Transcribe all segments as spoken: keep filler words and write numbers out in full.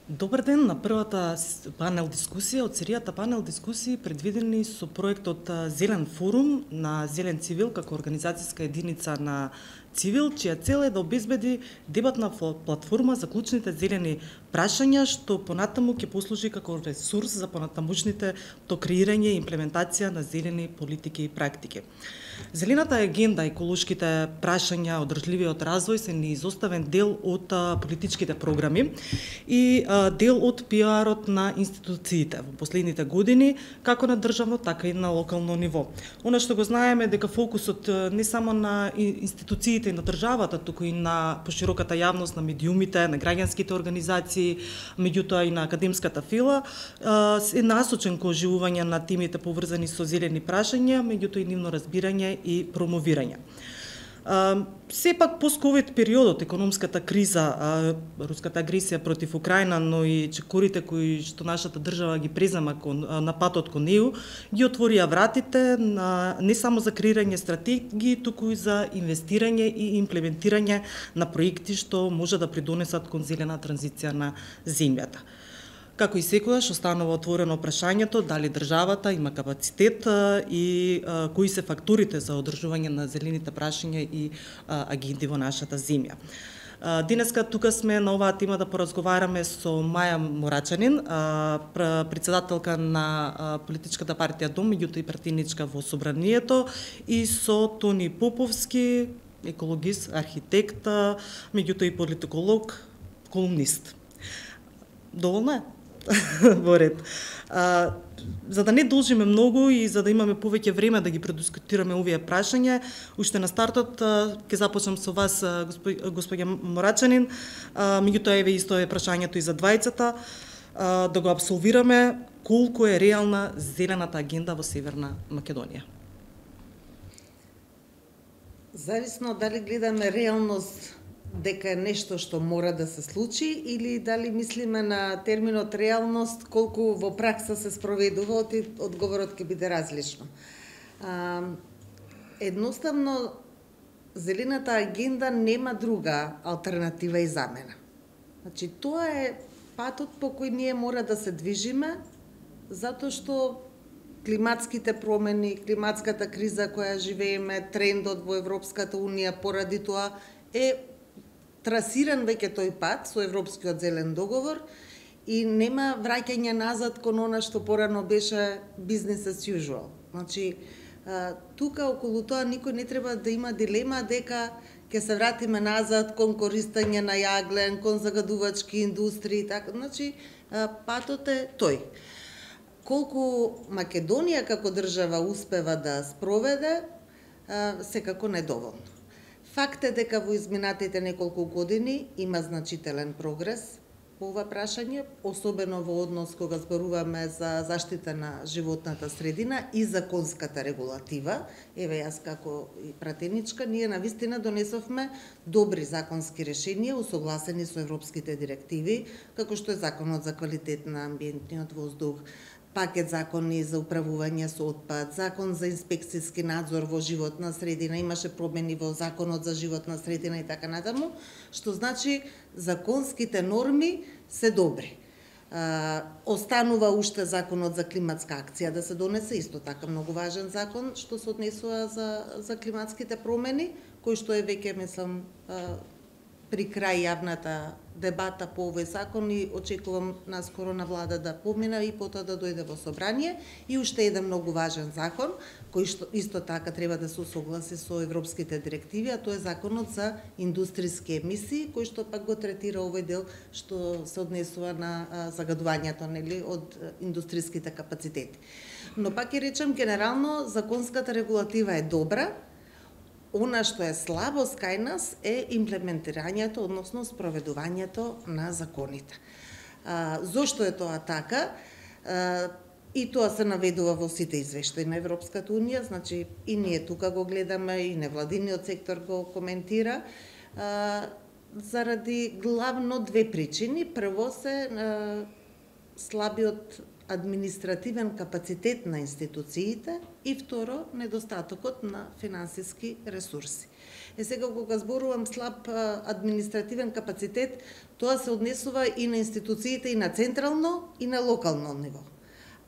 Добар ден на првата панел дискусија од серијата панел дискусии предвидени со проектот Зелен форум на Зелен Цивил како организацијска единица на Цивил, чија цел е да обезбеди дебатна платформа за клучните зелени прашања, што понатаму ќе послужи како ресурс за понатамушните то креирање и имплементација на зелени политики и практики. Зелената агенда, еколошките прашања, одржливиот развој се неизоставен дел од политичките програми и дел од пиарот на институциите во последните години, како на државно, така и на локално ниво. Она што го знаеме дека фокусот не само на институциите и на државата, туку и на пошироката јавност, на медиумите, на граѓанските организации, меѓутоа и на академската фила, е насочен кон оживување на темите поврзани со зелени прашања, меѓутоа и нивно разбирање и промовирање. Сепак пост-ковид периодот, економската криза, руската агресија против Украина, но и чекорите кои што нашата држава ги презема кон, на патот кон неу, ги отворија вратите на, не само за креирање стратегии, туку и за инвестирање и имплементирање на проекти што може да придонесат кон зелена транзиција на земјата. Како и секогаш останува отворено прашањето дали државата има капацитет и а, кои се факторите за одржување на зелените прашања и а, агенди во нашата земја. А, денеска тука сме на оваа тема да поразговараме со Маја Морачанин, а, председателка на а, политичката партија Дом, меѓутоа и пратеничка во Собранието, и со Тони Поповски, екологист, архитект, меѓутоа и политиколог, колумнист. Доволна е? Во ред. А, за да не должиме многу и за да имаме повеќе време да ги предискутираме овие прашања, уште на стартот ќе започнам со вас, господја Морачанин, меѓутоа еве исто е прашањето и за двајцата, а, да го абсолвираме колку е реална зелената агенда во Северна Македонија. Зависно дали гледаме реалност дека е нешто што мора да се случи или дали мислиме на терминот реалност колку во пракса се спроведува, одговорот ќе биде различно. А, едноставно, зелената агенда нема друга алтернатива и замена. Значи, тоа е патот по кој ние мора да се движиме, затоа што климатските промени, климатската криза која живееме, трендот во Европската Унија поради тоа е трасиран веќе тој пат со Европскиот зелен договор и нема враќање назад кон она што порано беше business as usual. Значи, тука околу тоа никој не треба да има дилема дека ќе се вратиме назад кон користење на јаглен, кон загадувачки индустрии, така. Значи, патот е тој. Колку Македонија како држава успева да спроведе, секако недоволно. Факт е дека во изминатите неколку години има значителен прогрес по ова прашање, особено во однос кога зборуваме за заштита на животната средина и законската регулатива. Еве јас како и пратеничка, ние навистина донесовме добри законски решенија усогласени со европските директиви, како што е Законот за квалитет на амбиентниот воздух, пакет закони за управување со отпад, закон за инспекцијски надзор во животна средина, имаше промени во законот за животна средина и така натаму, што значи законските норми се добри. А, останува уште законот за климатска акција да се донесе, исто така многу важен закон што се однесува за, за климатските промени, кој што е веќе, мислам, а, при крај јавната дебата по овој закон и очекувам наскоро на влада да помина и потоа да дојде во собрание. И уште еден многу важен закон, кој што исто така треба да се усогласи со европските директиви, а тоа е законот за индустријски емисии, кој што пак го третира овој дел што се однесува на загадувањето, нели, од индустријските капацитети. Но пак ќе речем, генерално законската регулатива е добра. Она што е слабост кај нас е имплементирањето, односно спроведувањето на законите. А, зошто е тоа така? А, и тоа се наведува во сите извештаи на Европската Унија, значи и ние тука го гледаме, и невладиниот сектор го коментира, а, заради главно две причини. Прво се а, слабиот административен капацитет на институциите и второ, недостатокот на финансиски ресурси. Е сега кога зборувам слаб административен капацитет, тоа се однесува и на институциите и на централно и на локално ниво.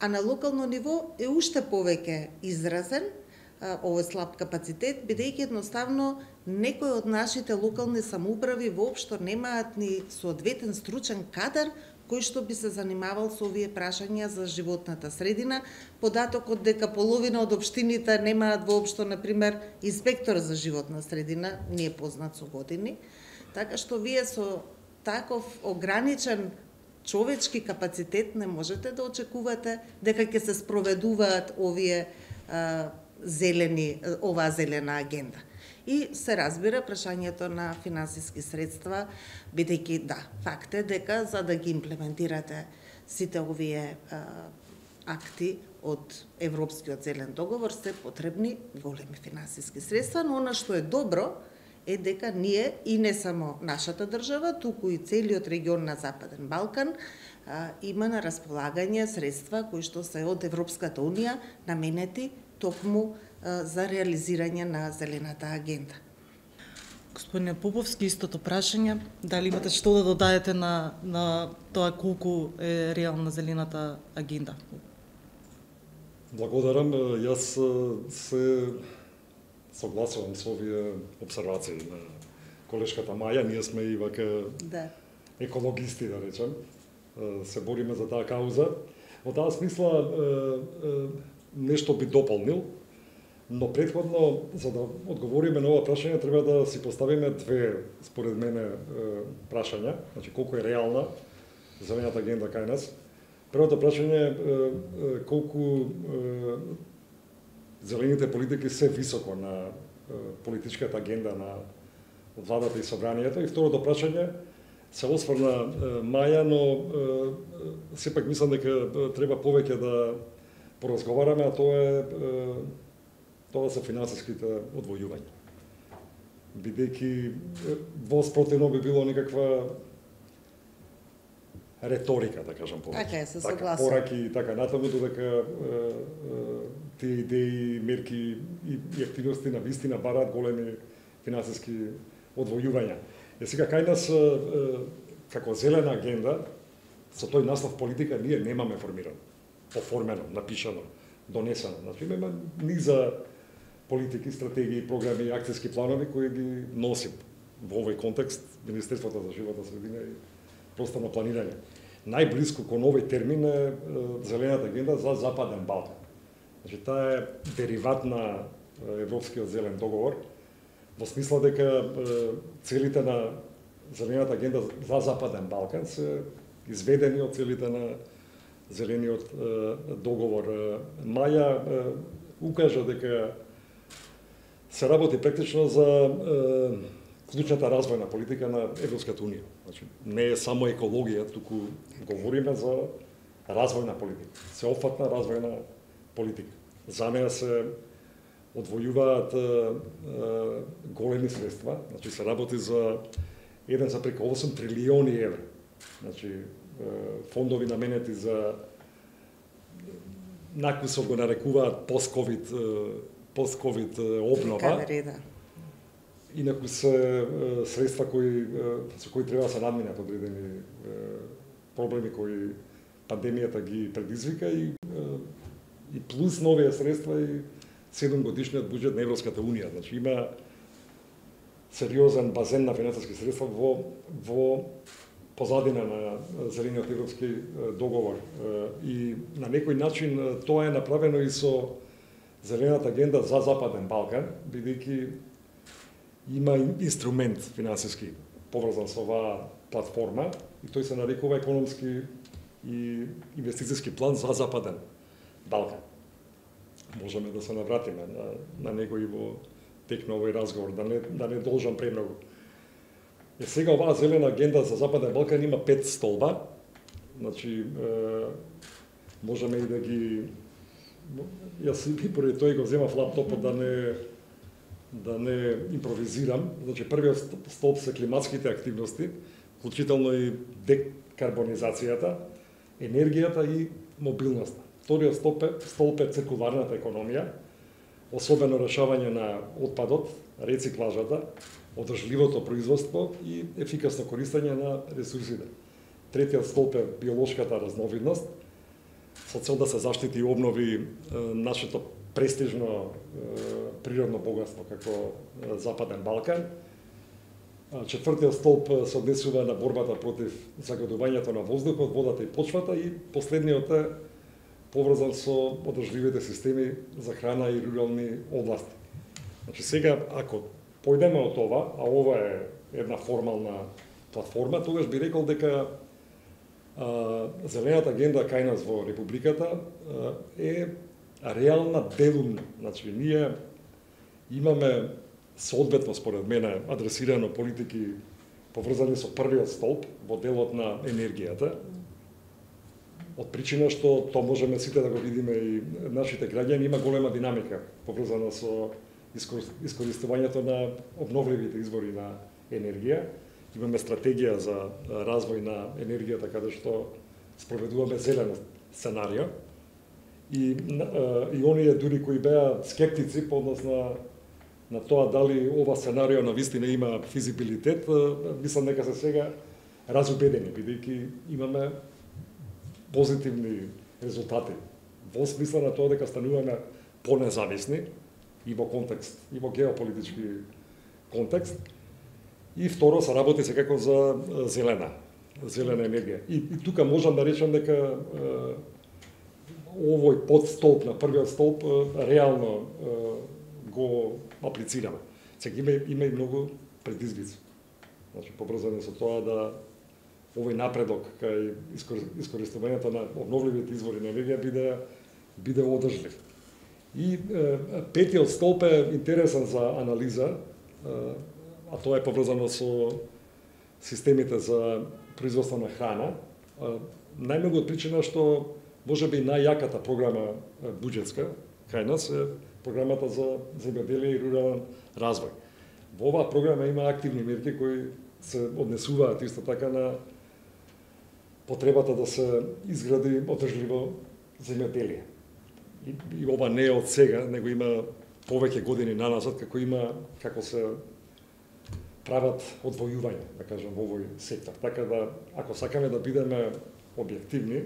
А на локално ниво е уште повеќе изразен овој слаб капацитет, бидејќи едноставно некои од нашите локални самоуправи воопшто немаат ни соодветен стручен кадар кој што би се занимавал со овие прашања за животната средина. Податокот дека половина од општините немаат воопшто, например, инспектор за животна средина, не е познат со години. Така што вие со таков ограничен човечки капацитет не можете да очекувате дека ќе се спроведуваат овие а, зелени, оваа зелена агенда. И се разбира прашањето на финансиски средства, бидејќи да, факт е дека за да ги имплементирате сите овие а, акти од Европскиот зелен договор се потребни големи финансиски средства, но она што е добро е дека ние и не само нашата држава, туку и целиот регион на Западен Балкан а, има на располагање средства кои што се од Европската унија наменети токму за реализирање на зелената агенда. Господине Поповски, истото прашање, дали имате што да додадете на, на тоа колку е реална зелената агенда? Благодарам. Јас се согласувам со овие обсервации на колешката Маја. Ние сме и вака да. екологисти, да речем. Се бориме за таа кауза. Во таа смисла нешто би дополнил, но претходно, за да одговориме на ова прашање, треба да си поставиме две, според мене, прашања. Значи, колку е реална зелената агенда кај нас. Првото прашање е колку зелените политики се високо на политичката агенда на владата и собранието. И второто прашање се осврна Маја, но сепак мислам дека треба повеќе да поразговараме, а тоа е тоа се финансиските одвојувања. Бидејќи воспротивно би било некаква реторика, да кажам повеќе. Така е, се така, согласувам. Пораки и така натаму, додека тие идеи, мерки и, и активности на вистина бараат големи финансиски одвојувања. Е сега кај нас како зелена агенда со тој наслов политика ние немаме формирано, оформено, напишано, донесено. Значи имаме низа политики, стратегии, програми, акцијски планови кои ги носи во овој контекст Министерството за животна средина и просторно планирање. Најблиску кон овој термин е зелената агенда за Западен Балкан. Значи таа е дериват на Европскиот зелен договор, во смисла дека целите на зелената агенда за Западен Балкан се изведени од целите на зелениот договор. Маја укажа дека се работи практично за клучната развојна политика на Европската унија. Значи, не е само екологија, туку говориме за развојна политика, сеопфатна развојна политика. За неа се одвојуваат големи средства, значи се работи за еден за преку осум трилиони евра. Значи, фондови наменети за накусо го нарекуваат пост-ковид пост-ковид обнова. Инаку се средства кои со кои треба да се надминат одредени проблеми кои пандемијата ги предизвика и и плюс нови средства и седумгодишниот буџет на Европската унија. Значи има сериозен базен на финансиски средства во во позадина на зелениот европски договор и на некој начин тоа е направено и со зелената агенда за Западен Балкан, бидејќи има инструмент финансиски поврзан со оваа платформа и тој се нарекува економски и инвестициски план за Западен Балкан. Можеме да се навратиме на, на него и во тек на овој разговор, да не, да не должам премногу. Е, сега оваа зелена агенда за Западен Балкан има пет столба, значи е, можеме и да ги... Јас и поради тој го земав лаптопот да не да не импровизирам. Значи првиот столб се климатските активности, вклучително и декарбонизацијата, енергијата и мобилноста. Вториот столб е, столб е циркуларната економија, особено решавање на отпадот, рециклажата, одржливото производство и ефикасно користење на ресурсите. Третиот столб е биолошката разновидност, со цел да се заштити и обнови е, нашето престижно е, природно богатство како е, Западен Балкан. Четвртиот столб се однесува на борбата против загадувањето на воздухот, водата и почвата, и последниот е поврзан со одржливите системи за храна и рурални области. Значи сега, ако појдеме од ова, а ова е една формална платформа, тогаш би рекол дека а, Зелената агенда кај нас во Републиката а, е реална делумна. Значи, ние имаме соодветно, според мене, адресирано политики поврзани со првиот столб во делот на енергијата, од причина што тоа можеме сите да го видиме и нашите граѓани, има голема динамика поврзана со искористувањето на обновливите извори на енергија. Имаме стратегија за развој на енергијата каде што спроведуваме зелен сценарио. И, и оние дури кои беа скептици по однос на, на тоа дали ова сценарио на вистина има физибилитет, мислам дека се сега разубедени, бидејќи имаме позитивни резултати во смисла на тоа дека стануваме понезависни и во контекст, и во геополитички контекст. И второ, се работи секако за зелена, зелена енергија. И, и тука можам да речам дека е, овој подстолб на првиот столб е, реално е, го аплицираме. Сега има, има и многу предизвици. Значи, поврзани со тоа да овој напредок кај искористувањето на обновливите извори на енергија биде, биде одржлив. И е, петиот столб е интересен за анализа, е, а тоа е поврзано со системите за производство на храна. Е, најмногу од причина што можеби најјаката програма буџетска кај нас е програмата за земјоделие и рурален развој. Во оваа програма има активни мерки кои се однесуваат исто така на потребата да се изгради одржливо земјоделие. И, и ова не е од сега, него има повеќе години наназад, како има, како се прават одвојување, да кажам, во овој сектор. Така да, ако сакаме да бидеме објективни,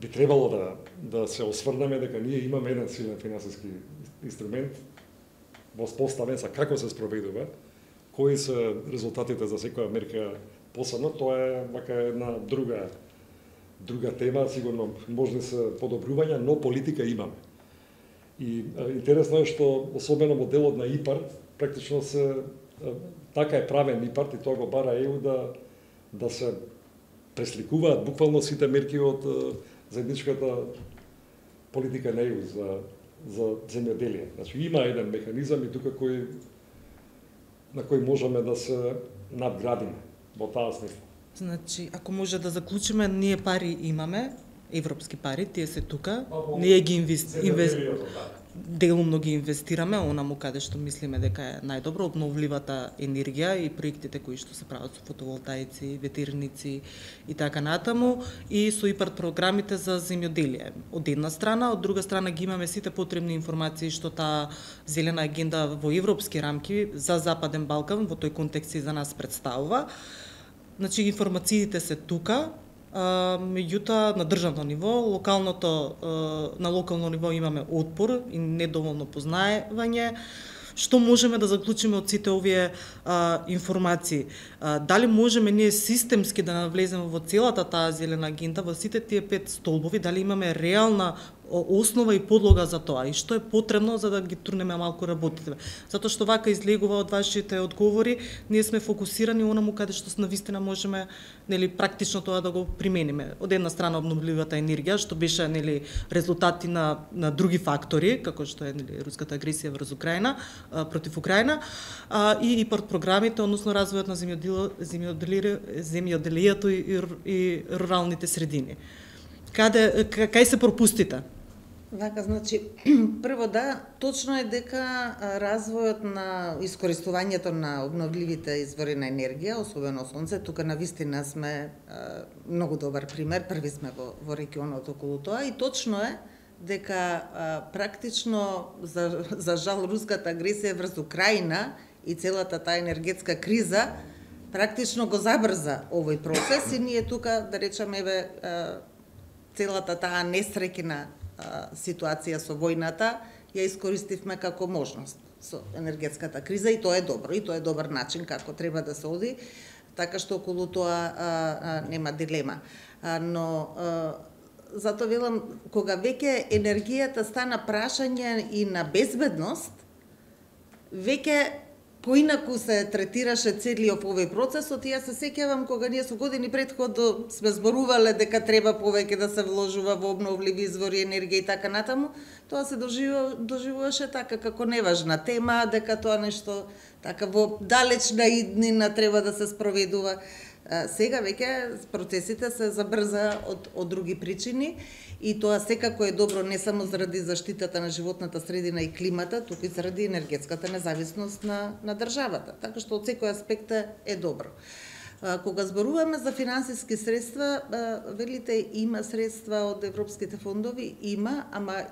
би требало да, да се осврнеме дека ние имаме еден силен финансиски инструмент воспоставен за како се спроведува, кои се резултатите за секоја мерка посебно, тоа е вака една друга друга тема, сигурно можни се подобрувања, но политика имаме. И а, интересно е што особено во делот на ИПАРД практично се а, така е правен ИПАРД и тоа го бара ЕУ да да се пресликуваат буквално сите мерки од заедничката политика на ЕУ за за земјоделие. Значи има еден механизам и тука кој на кој можеме да се надградиме во таа смисла. Значи, ако може да заклучиме, ние пари имаме, европски пари, тие се тука, ние ги инвестираме, делумно ги инвестираме, онаму каде што мислиме дека е најдобро, обновливата енергија и проектите кои што се прават со фотоволтаици, ветерници и така натаму, и со ИПАРД програмите за земјоделие. Од една страна, од друга страна ги имаме сите потребни информации што таа зелена агенда во европски рамки за Западен Балкан во тој контекст и за нас представува. Значи, информациите се тука, а, меѓутоа на државно ниво, локалното, а, на локално ниво имаме отпор и недоволно познаевање. Што можеме да заклучиме од сите овие а, информации? А, дали можеме ние системски да навлеземе во целата таа зелена агенда, во сите тие пет столбови, дали имаме реална основа и подлога за тоа и што е потребно за да ги турнеме малку работите. Затоа што вака излегува од вашите одговори, ние сме фокусирани онаму каде што навистина можеме, нели, практично тоа да го примениме. Од една страна обновливата енергија, што беше, нели, резултати на на други фактори, како што е, нели, руската агресија врз Украина, а, против Украина, а, и ИПАРД програмите, односно развојот на земјоделието и, и, и руралните средини. Каде кај се пропустите? Вака, значи, прво да, точно е дека развојот на искористувањето на обновливите извори на енергија, особено сонце, тука на вистина сме а, многу добар пример, први сме во, во регионот околу тоа и точно е дека а, практично за, за жал руската агресија врз Украина и целата таа енергетска криза практично го забрза овој процес и ние тука, да речеме, еве, а, целата таа несреќна ситуација со војната ја искористивме како можност со енергетската криза и тоа е добро и тоа е добар начин како треба да се оди, така што околу тоа а, а, нема дилема. А, но а, затоа велам, кога веќе енергијата стана прашање и на безбедност, веќе поинаку се третираше целиот овој процес, и јас се сеќавам кога ние со години претходно сме зборувале дека треба повеќе да се вложува во обновливи извори енергија и така натаму, тоа се доживува, доживуваше така како неважна тема, дека тоа нешто така во далечна иднина треба да се спроведува. Сега веќе процесите се забрза од, од други причини и тоа секако е добро не само заради заштитата на животната средина и климата, туку и заради енергетската независност на, на државата. Така што од секој аспект е добро. Кога зборуваме за финансиски средства, велите има средства од европските фондови, има, ама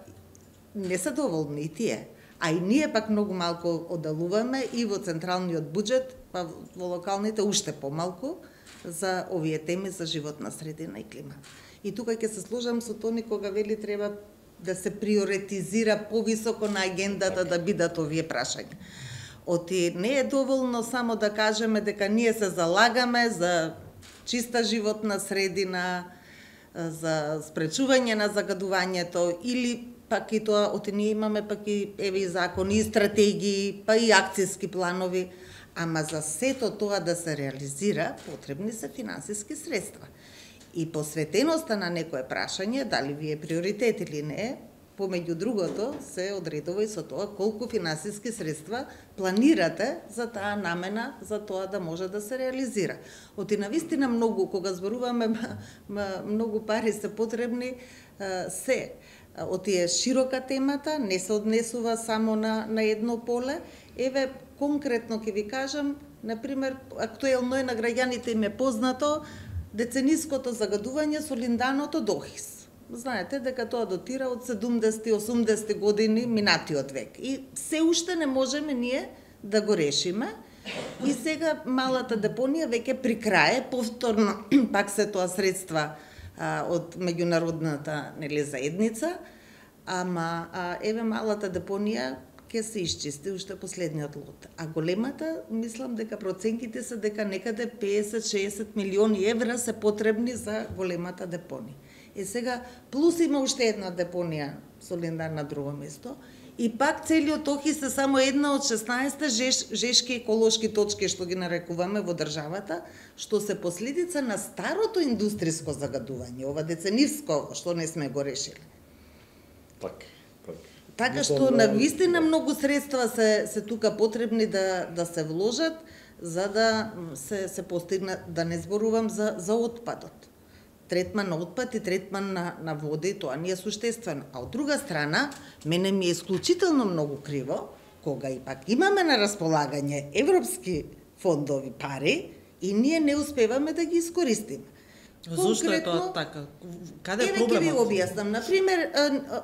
не се доволни и тие. А и ние пак многу малку оддалуваме и во централниот буџет, па во локалните уште помалку, за овие теми за животна средина и климат. И тука ќе се сложам со Тони кога вели треба да се приоритизира повисоко на агендата да бидат овие прашања. Оти не е доволно само да кажеме дека ние се залагаме за чиста животна средина, за спречување на загадувањето или пак и тоа, оти ние имаме пак и еве и закони, и стратегии, па и акцијски планови. Ама за сето тоа да се реализира, потребни се финансиски средства. И посветеноста на некое прашање, дали ви е приоритет или не, помеѓу другото, се одредува и со тоа колку финансиски средства планирате за таа намена, за тоа да може да се реализира. Оти навистина многу, кога зборуваме, многу пари се потребни, се. Оти е широка темата, не се однесува само на, на едно поле. Еве, конкретно ќе ви кажам, например, актуелно е на граѓаните им е познато децениското загадување со линданото дохис. Знаете дека тоа дотира од седумдесети осумдесети години минатиот век. И се уште не можеме ние да го решиме. И сега малата депонија веќе при крај, повторно пак се тоа средства а, од меѓународната, нели, заедница, ама а, еве малата депонија ќе се исчисти уште последниот лот. А големата, мислам дека проценките се дека некаде песет до шеесет милиони евра се потребни за големата депонија. Е сега, плюс има уште една депонија со линдар на друго место, и пак целиот Охис е само една од шеснаесет жеш, жешки еколошки точки што ги нарекуваме во државата, што се последица на старото индустријско загадување, ова деценивско што не сме го решили. Так, так. Така што на вистина многу средства се се тука потребни да да се вложат за да се се постигне, да не зборувам за за отпадот. Третман на отпад и третман на на води, тоа не е суштествено. А од друга страна, мене ми е исклучително многу криво кога и пак имаме на располагање европски фондови пари и ние не успеваме да ги искористиме. Зошто е тоа така? Каде е проблемот? Еве ќе ви објаснам. Например,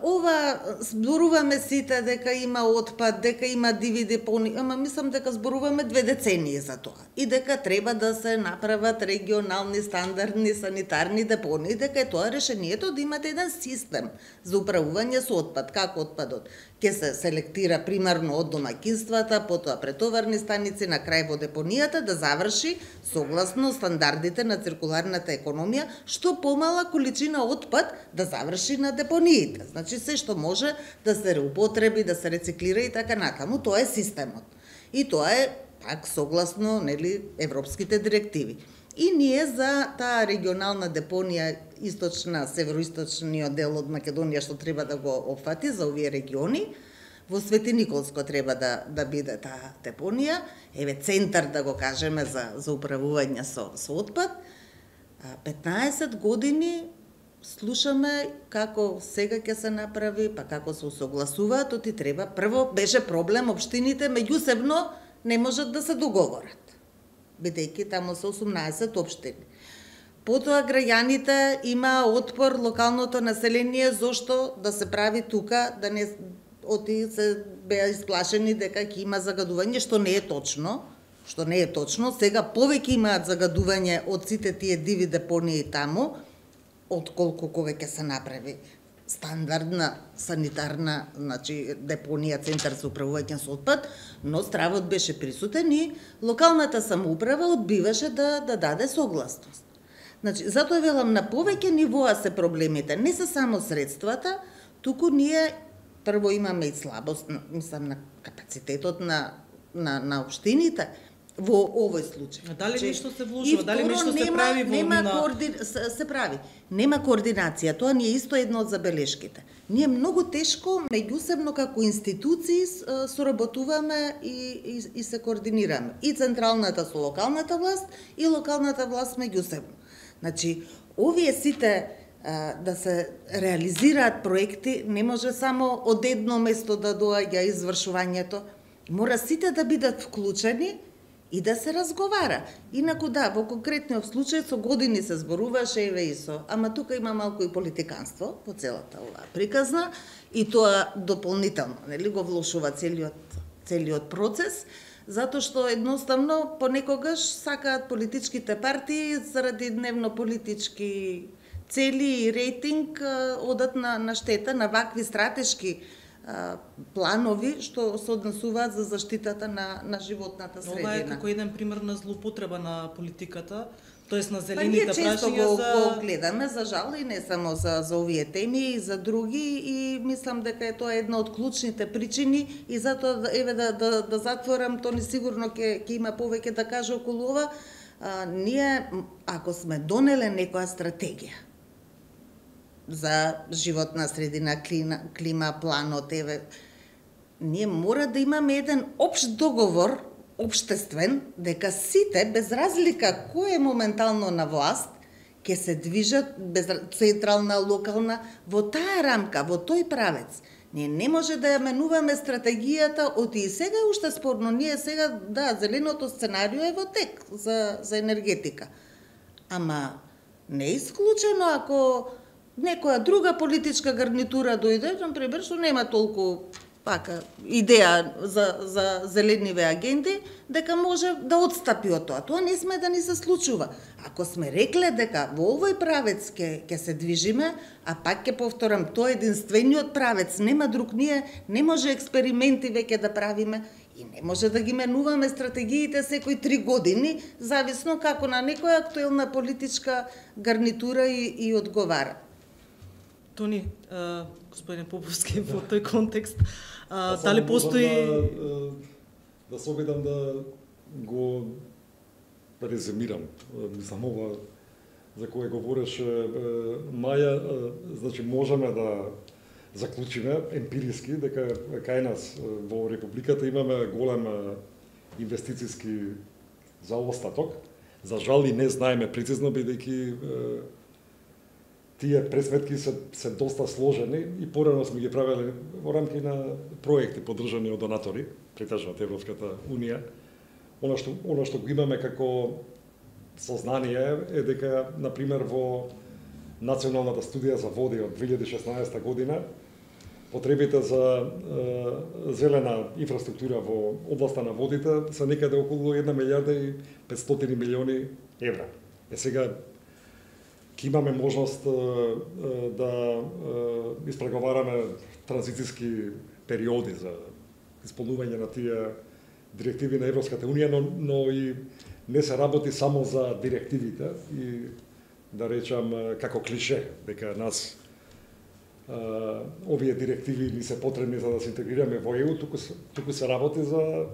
ова зборуваме сите дека има отпад, дека има диви депони, ама мислам дека зборуваме две децении за тоа. И дека треба да се направат регионални стандардни санитарни депони, дека е тоа решението да имате еден систем за управување со отпад. Како отпадот ќе се селектира примарно од домаќинствата, потоа претоварни станици, на крај во депонијата да заврши согласно стандардите на циркуларната економија, што помала количина отпад да заврши на депониите. Значи се што може да се реупотреби, да се рециклира и така натаму, тоа е системот. И тоа е пак согласно, нели, европските директиви. И ние за таа регионална депонија источна, североисточниот дел од Македонија што треба да го опфати за овие региони, во Свети Николско треба да да биде таа депонија, еве центар да го кажеме за за управување со со отпад. петнаесет години слушаме како сега ќе се направи, па како се усогласуваат, оти треба. Прво беше проблем општините меѓусебно не можат да се договорат, бидејќи таму се осумнаесет општини. Потоа граѓаните има отпор, локалното население, зошто да се прави тука, да не оти се беа исплашени дека ќе има загадување, што не е точно, што не е точно. Сега повеќе имаат загадување од сите тие диви депонии таму, отколку кога ќе се направи стандардна санитарна, значи депонија, центар за управување со отпад, но стравот беше присутен и локалната самоуправа одбиваше да да даде согласност. Значи, затоа велам, на повеќе нивоа се проблемите, не се само средствата, туку ние прво имаме и слабост, мислам, на капацитетот на на на општините во овој случај. А дали нешто се вложува, дали нешто се прави во нема на... коорди... се, се прави. Нема координација, тоа ни е исто едно од забелешките. Ние многу тешко меѓусебно како институции соработуваме и, и, и се координираме. И централната со локалната власт, и локалната власт меѓусебно. Значи, овие сите а, да се реализираат проекти, не може само од едно место да доаѓа извршувањето. Мора сите да бидат вклучени и да се разговара. Инаку да, во конкретниот случај со години се зборуваше еве и со, ама тука има малку и политиканство по целата оваа приказна и тоа дополнително, нели, го влошува целиот целиот процес, затоа што едноставно понекогаш сакаат политичките партии заради дневно политички цели и рейтинг одат на на штета на вакви стратешки планови што се однесуваат за заштитата на на животната средина. Ова е како еден пример на злоупотреба на политиката, тоест на па зелените ние често прашања го, за... го гледаме, за жал, и не само за, за овие теми, и за други, и мислам дека е тоа една од клучните причини, и затоа, еве, да, да, да затворам, Тони сигурно ќе ќе има повеќе да каже околу ова. А, ние, ако сме донеле некоја стратегија за животна средина, клима, клима планот, еве, ние мора да имаме еден општ договор, општествен, дека сите, без разлика кој е моментално на власт, ќе се движат, без централна, локална, во таа рамка, во тој правец. Ние не може да ја менуваме стратегијата, оти и сега е уште спорно. Ние сега, да, зеленото сценарио е во тек за, за енергетика. Ама не е исклучено ако некоја друга политичка гарнитура дојде, например, што нема толку пака идеја за за зелениве агенди, дека може да отстапи од тоа. Тоа не сме да ни се случува. Ако сме рекле дека во овој правец ќе ќе се движиме, а пак ќе повторам, тоа е единствениот правец, нема друг, ние не може експерименти веќе да правиме и не може да ги менуваме стратегиите секои три години, зависно како на некоја актуелна политичка гарнитура и, и одговара. Тони, а, господин Поповски, во тој контекст, а, Па дали постои... Да, да се обидам да го резимирам, мислам ова за кое говореше Маја, значи можеме да заклучиме емпириски дека кај нас во Републиката имаме голем инвестициски заостаток. За жал и не знаеме прецизно, бидејќи тие пресметки се, се доста сложени и порано сме ги правеле во рамки на проекти поддржани од донатори, претежно од Европската Унија. Она што, она што го имаме како сознание е дека, например, во Националната студија за води од две илјади и шеснаесета година, потребите за е, зелена инфраструктура во областа на водите се некаде околу една милијарда и петстотини милиони евра. Е сега ќе имаме можност е, е, да е, испреговараме транзицијски периоди за исполнување на тие директиви на Европската Унија, но, но и не се работи само за директивите и да речам како клише дека нас а, овие директиви ни се потребни за да се интегрираме во Е У, туку, туку се работи за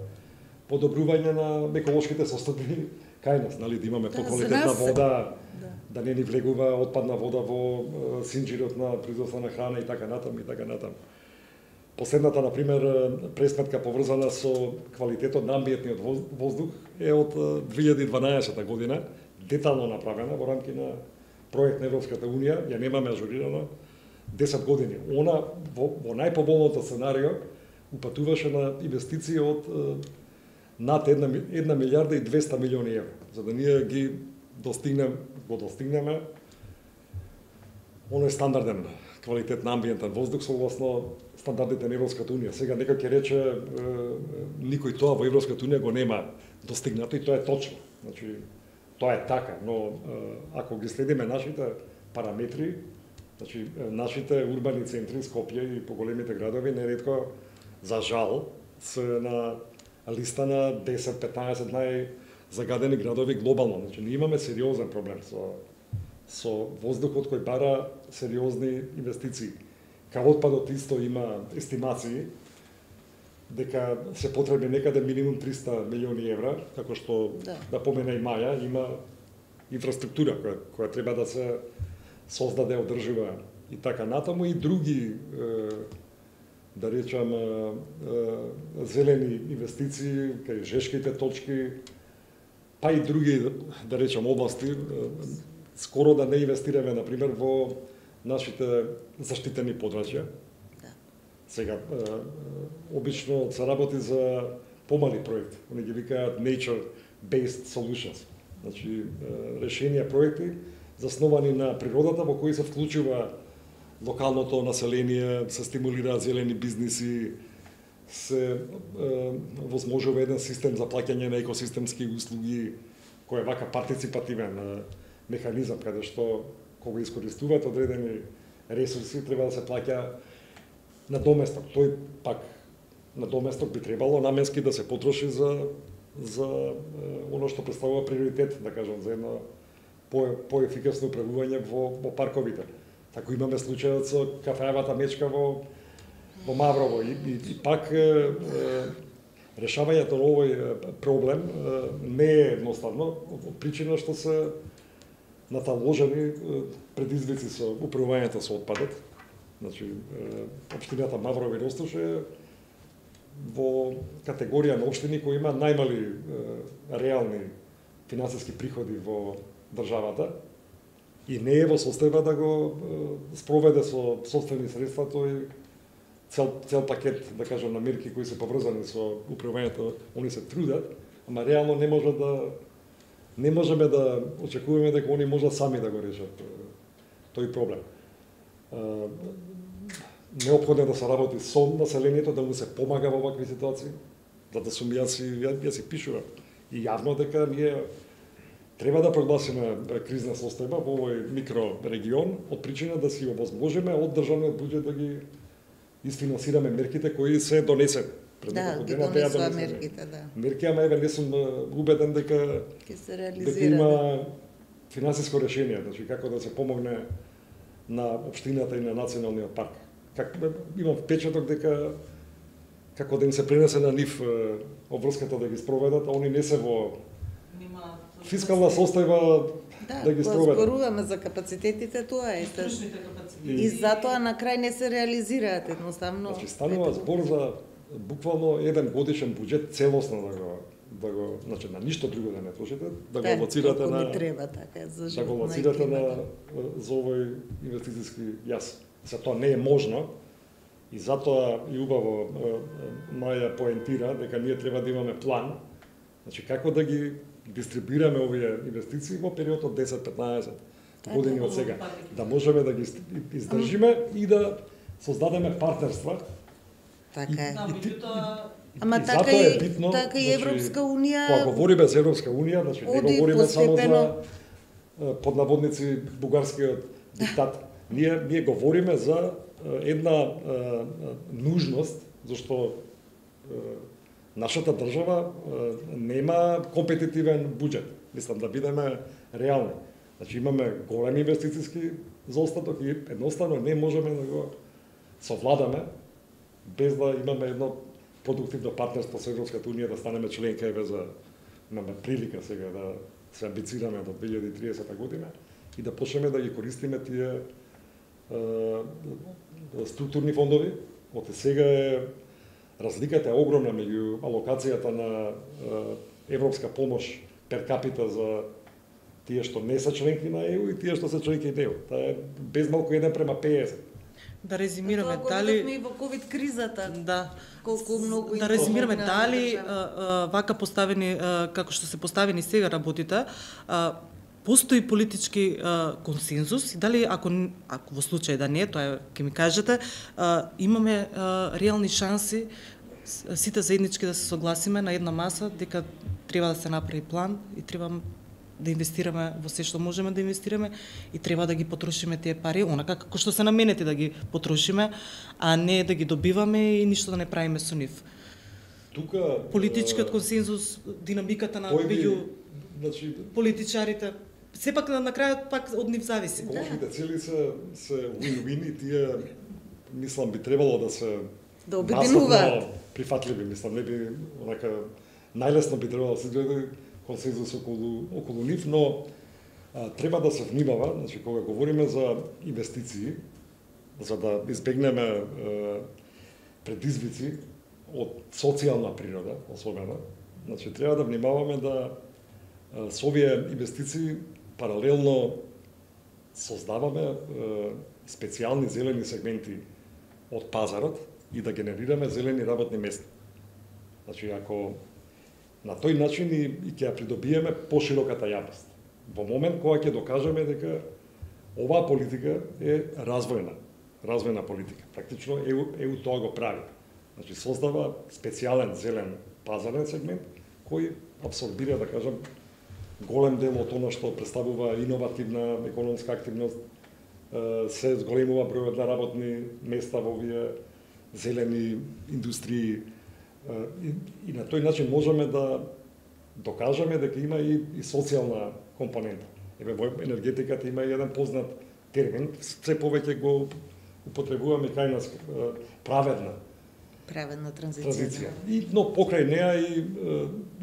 подобрување на еколошките состојби кај нас, нали, да имаме да, поквалитетна вода, да. да не ни влегува отпадна вода во синџирот на производство на храна и така натам и така натам. Последната, например, пресметка поврзана со квалитетот на амбиентниот воздух е од две илјади и дванаесета година, детално направена во рамки на проект на Европската Унија, ја немаме ажурирано десет години. Она во, во најпоболното сценарио упатуваше на инвестиции од над една, една милиарда и двеста милиони евра. За да ние ги достигнем, го достигнеме оној стандарден квалитет на амбиентен воздух согласно стандардите на Европската Унија. Сега некој ќе рече е, никој тоа во Европската Унија го нема достигнато и тоа е точно. Значи тоа е така, но е, ако ги следиме нашите параметри, значи нашите урбани центри, Скопје и поголемите градови неретко за жал се на листа на десет-петнаесет најзагадени градови глобално. Значи ние имаме сериозен проблем со со воздухот кој бара сериозни инвестиции. Као отпадот исто има естимации дека се потребни некаде минимум триста милиони евра, како што да, да помена и Маја, има инфраструктура која, која треба да се создаде, одржува и така натаму, и други да речам зелени инвестиции кај жешките точки, па и други да речам области. Скоро да не инвестираме, например, во нашите заштитени подрачја. Да. Сега, е, обично се работи за помали проекти. Они ги викаат nature-based solutions. Значи, е, решенија проекти засновани на природата, во кои се вклучува локалното население, се стимулираат зелени бизниси, се е, возможува еден систем за плаќање на екосистемски услуги, кој е вака партиципативен механизам, каде што кога искористуваат одредени ресурси, треба да се плаќа на доместок. Тој пак на доместок би требало наменски да се потроши за за оно што представува приоритет, да кажам, за едно по поефикасно управување во, во парковите. Тако имаме случајот со кафеавата мечка во во Маврово и, и, и пак е, е, решавањето на овој проблем е, не е едноставно, од причина што се наталожени предизвици со управувањето со отпадот. Значи, општината Маврово и Ростуш е во категорија на општини кои има најмали реални финансиски приходи во државата и не е во состојба да го спроведе со собствени средства тој цел, цел пакет, да кажам, на мерки кои се поврзани со управувањето. Они се трудат, ама реално не може да не можеме да очекуваме дека они можат сами да го решат тој проблем. Неопходно е да се работи со населението, да му се помага во вакви ситуации. Зато сум јас и ја си пишувам и јавно дека ние треба да прогласиме кризна состојба во овој микрорегион од причина да си овозможиме од државниот буџет да ги изфинансираме мерките кои се донесени. Да, ги донесува мерките, да. Мерки, ама еве не сум убеден дека ќе се реализира. Дека има финансиско решение, значи како да се помогне на општината и на националниот парк. Как имам впечаток дека како да им се пренесе на нив обврската да ги спроведат, а они не се во фискална состојба да, да ги спроведат. Да, зборуваме за капацитетите, тоа е. И, и затоа на крај не се реализираат едноставно. Значи станува збор за буквално еден годишен буџет целосно да го да го, значи на ништо друго да не трошите, да го алоцирате на треба така за да го алоцирате на за овој инвестициски јас. За тоа не е можно и затоа и убаво Маја поентира дека ние треба да имаме план, значи како да ги дистрибуираме овие инвестиции во период од десет-петнаесет години од сега, да можеме да ги издржиме и да создадеме партнерства. Така е. И, и, и, Ама и така и, е битно, така и Европска Унија. Кога говориме за Европска Унија, значи не говориме само за под наводници бугарскиот диктат. Ние ние говориме за една нужност, зашто нашата држава нема компетитивен буџет. Мислам да бидеме реални. Значи имаме големи инвестициски заостаток и едноставно не можеме да го совладаме без да имаме едно продуктивно партнерство со Европската Унија, да станеме членка, еве за имаме прилика сега да се амбицираме до две илјади и триесета година и да почнеме да ги користиме тие е, структурни фондови. Од сега е разликата е огромна меѓу алокацијата на е, европска помош пер капита за Тие што не се членки на Е У и тие што се членки на Е У. Тоа е без малку еден према петдесет. Да резимираме Тоа дали и во ковид кризата. Да. Колку многу Да резимираме дали а, а, вака поставени а, како што се поставени сега работите, а, постои политички а, консензус и дали ако ако во случај да не, тоа ќе ми кажете, а, имаме а, реални шанси сите заеднички да се согласиме на една маса дека треба да се направи план и треба да инвестираме во се што можеме да инвестираме и треба да ги потрошиме тие пари онака како што се наменети да ги потрошиме, а не да ги добиваме и ништо да не правиме со нив. Тука Политичкиот консензус, динамиката на меѓу значи политичарите, сепак на, на крајот пак од нив зависи. Еколошките цели се се win-win и тие мислам би требало да се да обединуваат. Прифатливи, мислам, не би онака најлесно би требало да се дојде консензус околу околу нив, но а, треба да се внимава, значи кога говориме за инвестиции, за да избегнеме е, предизвици од социјална природа, особено, значи треба да внимаваме да е, со овие инвестиции паралелно создаваме е, специјални зелени сегменти од пазарот и да генерираме зелени работни места. Значи, ако на тој начин и, и ќе ја придобиеме пошироката јавност. Во момент кога ќе докажеме дека оваа политика е развојна, развојна политика. Практично Е У, Е У тоа го прави. Значи, создава специјален зелен пазарен сегмент кој абсорбира, да кажам, голем дел од она што представува иновативна економска активност, се зголемува бројот на работни места во овие зелени индустрии. И, и на тој начин можеме да докажеме дека има и, и социјална компонента. Еве во енергетиката има и еден познат термин, се повеќе го употребуваме кај нас, праведна. Праведна транзиција. транзиција. И, но покрај неа и,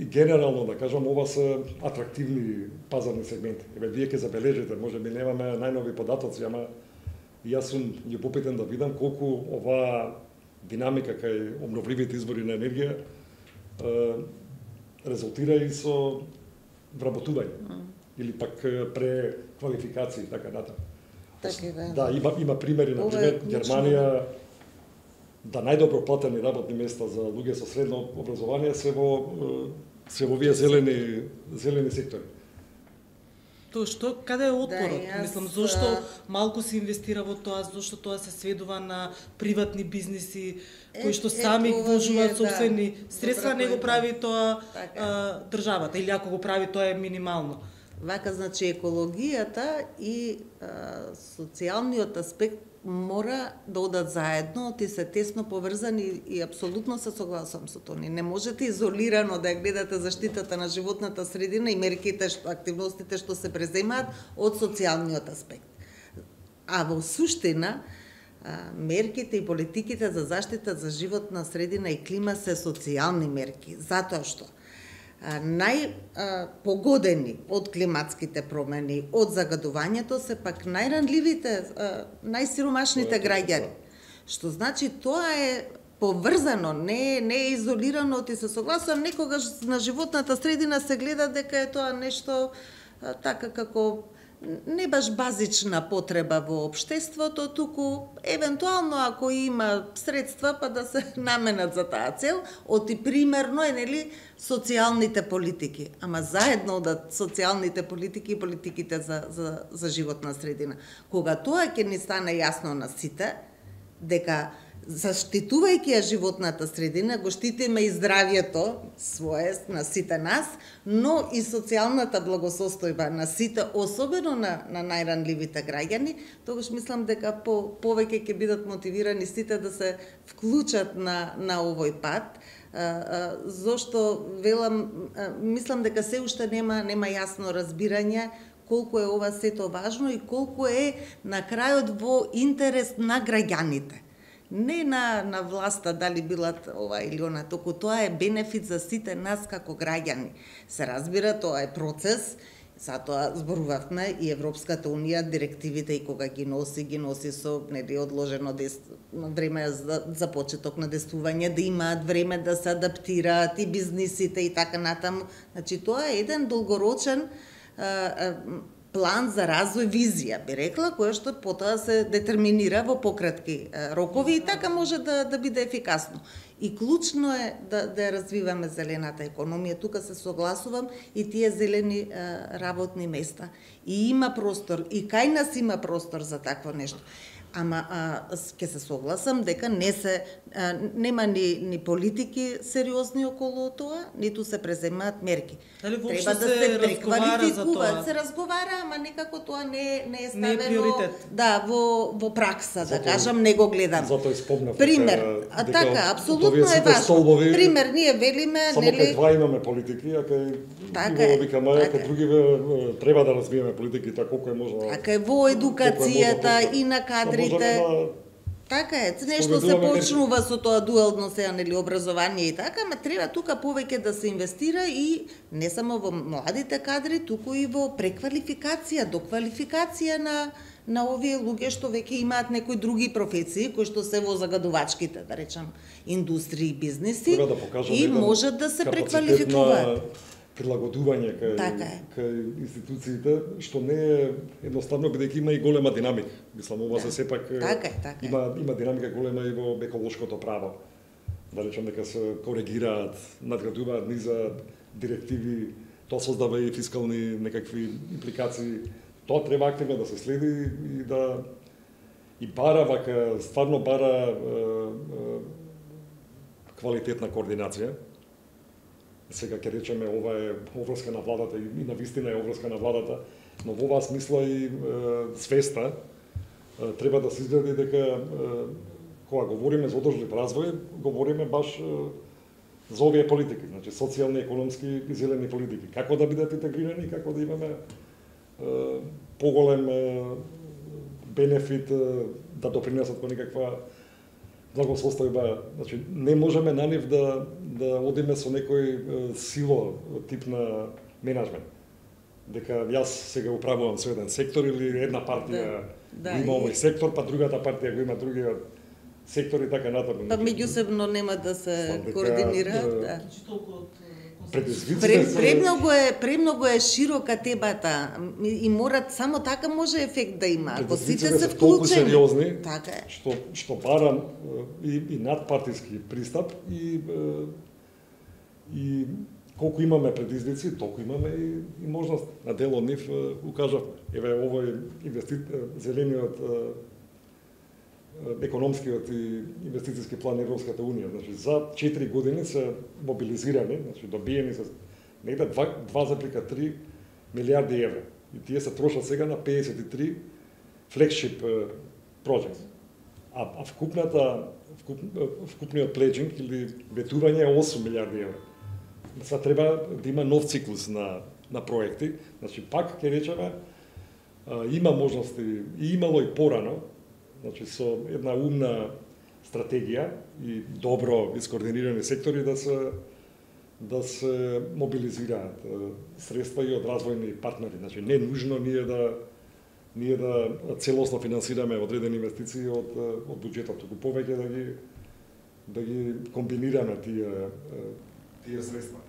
и генерално, да кажам, ова се атрактивни пазарни сегменти. Еве, вие ќе забележите, може би немаме најнови податоци, ама јас сум љубопитен да видам колку оваа динамика кај обновливите извори на енергија е, резултира и со вработување mm. или пак преквалификации и така натаму. Така да. Да, има има примери, на пример Германија, да најдобро платени работни места за луѓе со средно образование се во се во овие зелени зелени сектори. Тоа што каде е отпорот? Да, јас... Мислам, зошто малку се инвестира во тоа, зошто тоа се сведува на приватни бизниси е, кои што сами вложуваат собствени да, средства, не го прави тоа така. а, државата или ако го прави тоа е минимално. Вака, значи, екологијата и а, социјалниот аспект мора да одат заедно, ти се тесно поврзани и апсолутно се согласувам со тоа. Не можете изолирано да ја гледате заштитата на животната средина и мерките, што, активностите што се преземаат од социјалниот аспект. А во суштина, мерките и политиките за заштита за животна средина и клима се социјални мерки, затоа што најпогодени од климатските промени, од загадувањето се пак најранливите, најсиромашните граѓани. Што значи тоа е поврзано, не, не е изолирано, ти се согласувам, некогаш на животната средина се гледа дека е тоа нешто така како не баш базична потреба во општеството, туку евентуално ако има средства па да се наменат за таа цел, оти примерно е нели социјалните политики, ама заедно одат социјалните политики и политиките за за за животна средина. Кога тоа ќе ни стане јасно на сите дека заштитувајќи ја животната средина, го штитиме и здравјето свое на сите нас, но и социјалната благосостојба на сите, особено на, на најранливите граѓани, тогаш мислам дека по, повеќе ќе бидат мотивирани сите да се вклучат на, на овој пат, а, а, зошто велам, а, мислам дека се уште нема, нема јасно разбирање колку е ова сето важно и колку е на крајот во интерес на граѓаните. Не на, на власта, дали билат ова или она, току тоа е бенефит за сите нас како граѓани. Се разбира, тоа е процес, затоа зборувавме и Европската Унија, директивите и кога ги носи, ги носи со нели одложено време за, за почеток на действување, да имаат време да се адаптираат и бизнисите и така натаму. Значи, тоа е еден долгорочен план за развој, визија, би рекла, која што потоа се детерминира во пократки рокови и така може да, да биде ефикасно. И клучно е да, да ја развиваме зелената економија. Тука се согласувам и тие зелени а, работни места. И има простор, и кај нас има простор за такво нешто. Ама ќе се согласам дека не се а, нема ни, ни политики сериозни околу тоа, ниту се преземаат мерки. Дали треба да се, се преквалификува, се разговара, ама некако тоа не не е ставено, не е приоритет. Да, во во пракса, Зато, да кажам, не го гледам. Затоа спомнав. Пример, а така, апсолутно е важно. Столбови, пример, ние велиме, само нели? Само два имаме политики, а кај така е, викаме, така кај други треба да развиеме политики, така колку е можно. Така е во едукацијата и на кадрите. Да, така е, нешто се почнува со тоа дуелно сега, нели, образование и така, ама треба тука повеќе да се инвестира и не само во младите кадри, туку и во преквалификација, доквалификација на на овие луѓе што веќе имаат некои други професии, кои што се во загадувачките, да речам, индустрии и бизнеси, да и можат да се преквалификуваат. Прилагодување кај, така кај институциите, што не е едноставно, бидејќи има и голема динамика. Мислам, ова да. се сепак така е, така има, има динамика голема и во еколошкото право. Да речем дека се коригираат, надградуваат низа директиви, тоа создава и фискални некакви импликации. Тоа треба активно да се следи и да и бара вака, стварно бара е, е, квалитетна координација. Сега ќе речеме ова е обврска на владата и на вистина е обврска на владата, но во оваа смисла и е, свеста е, треба да се изгради дека е, кога говориме за одржлив развој, говориме баш е, за овие политики, значи социјални, економски и зелени политики. Како да бидат интегрирани, како да имаме е, поголем е, бенефит е, да допринесат кон некаква благосостојба. Значи, не можеме на нив да, да одиме со некој е, сило тип на менеджмент. Дека јас сега управувам со еден сектор или една партија да, да, има овој сектор, па другата партија го има другиот сектор и така натаму. Па меѓусебно нема да се дека, координираат. Да. Предизвиците премногу е премногу е широка темата и морат само така може ефект да има. Ако сите се вклучени, толку сериозни, така е. Што што барам и и надпартиски пристап и и колку имаме предизвици, толку имаме и, и можност на дел од нив укажав. Еве овој инвести... зелениот економскиот и инвестициски план на Европската унија. Значи за четири години се мобилизирани, значи добиени се негде два зарез и три милиарди евра. И тие се трошат сега на педесет и три флекшип проекти. А, а вкупната вкуп, вкупниот пледжинг или ветување е осум милиарди евра. Сега треба да има нов циклус на на проекти. Значи пак ќе речеме има можности и имало и порано. Значи со една умна стратегија и добро искоординирани сектори да се да се мобилизираат средства и од развојни партнери. Значи не е нужно ние да ние да целосно финансираме одредени инвестиции од од буџетот, туку повеќе да ги да ги комбинираме тие тие средства.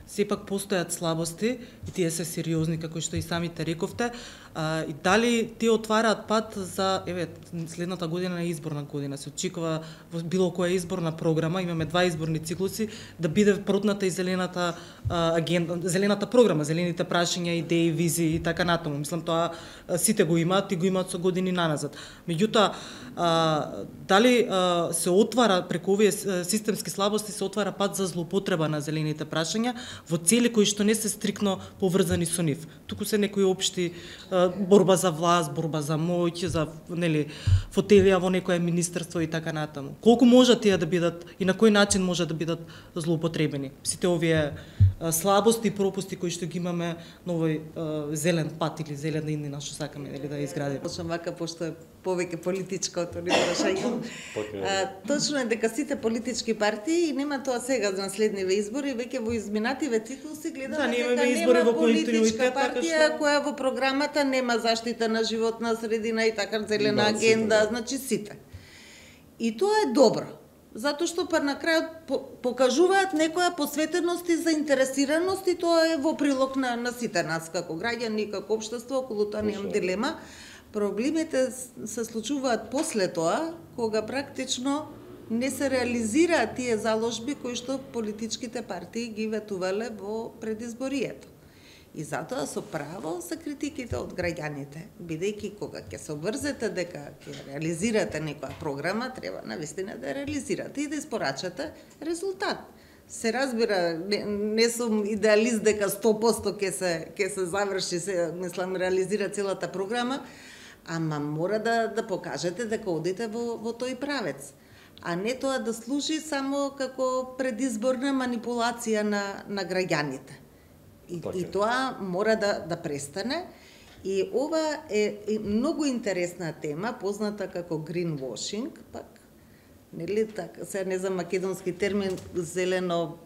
Сепак постојат слабости и тие се сериозни, како што и самите рековте. А, и дали тие отвараат пат за, еве, следната година е изборна година, се очекува во било која изборна програма, имаме два изборни циклуси, да биде протната и зелената а, агенда, зелената програма, зелените прашања, идеи, визии и така натаму. Мислам, тоа а, сите го имаат и го имаат со години наназад. Меѓутоа, а, дали а, се отвара преку овие системски слабости се отвара пат за злоупотреба на зелените прашања во цели кои што не се стрикно поврзани со нив. Туку се некои општи а, борба за власт, борба за моќ, за нели фотелија во некое министерство и така натаму. Колку може тие да бидат и на кој начин може да бидат злоупотребени? Сите овие а, слабости и пропусти кои што ги имаме на овој а, зелен пат или зелена иднина што сакаме нели да изградиме. Почнам вака пошто е повеќе политичко од ни прашање. Точно е дека сите политички партии и нема тоа сега за наследниве избори, веќе во изминативе циклуси гледаме да, дека избори нема во политичка партија што... која во програмата нема заштита на животна средина и така зелена да, агенда, да. Значи сите. И тоа е добро. затоа што па на крајот покажуваат некоја посветеност и заинтересираност, и тоа е во прилог на, на сите нас како граѓани, како општество, околу тоа немам дилема. Проблемите се случуваат после тоа, кога практично не се реализираат тие заложби кои што политичките партии ги ветувале во предизборието. И затоа со право се критиките од граѓаните, бидејќи кога ќе се обврзете дека ќе реализирате некоја програма, треба навистина да реализирате и да испорачате резултат. Се разбира, не, не сум идеалист дека сто проценти ќе се ќе се заврши, се мислам реализира целата програма, ама мора да да покажете дека одите во во тој правец, а не тоа да служи само како предизборна манипулација на на граѓаните. И, и тоа мора да да престане. И ова е, е многу интересна тема, позната како greenwashing, пак нели така, се не знам македонски термин, зелено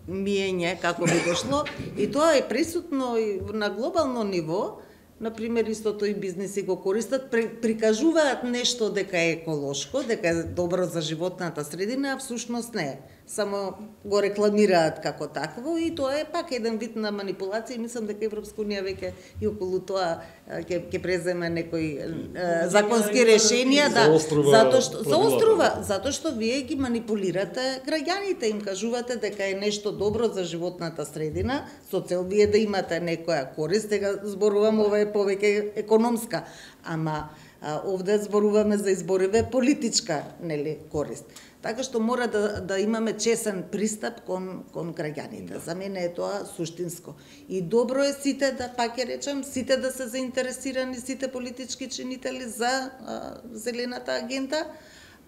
миење како би дошло, и тоа е присутно и на глобално ниво. Например, истото и бизниси го користат, прикажуваат нешто дека е еколошко, дека е добро за животната средина, а всушност не е. Само го рекламираат како такво, и тоа е пак еден вид на манипулација, и мислам дека Европска унија веќе и околу тоа ќе ќе преземе некои законски решенија, да, затоа што заострува, затоа што вие ги манипулирате граѓаните, им кажувате дека е нешто добро за животната средина, со цел вие да имате некоја корист, дека зборувам, ова е повеќе економска, ама а, овде зборуваме за избориве политичка, нели, корист. Така што мора да, да имаме чесен пристап кон, кон граѓаните. За мене е тоа суштинско. И добро е сите, да пак ќе речем, сите да се заинтересирани, сите политички чинители за а, зелената агенда,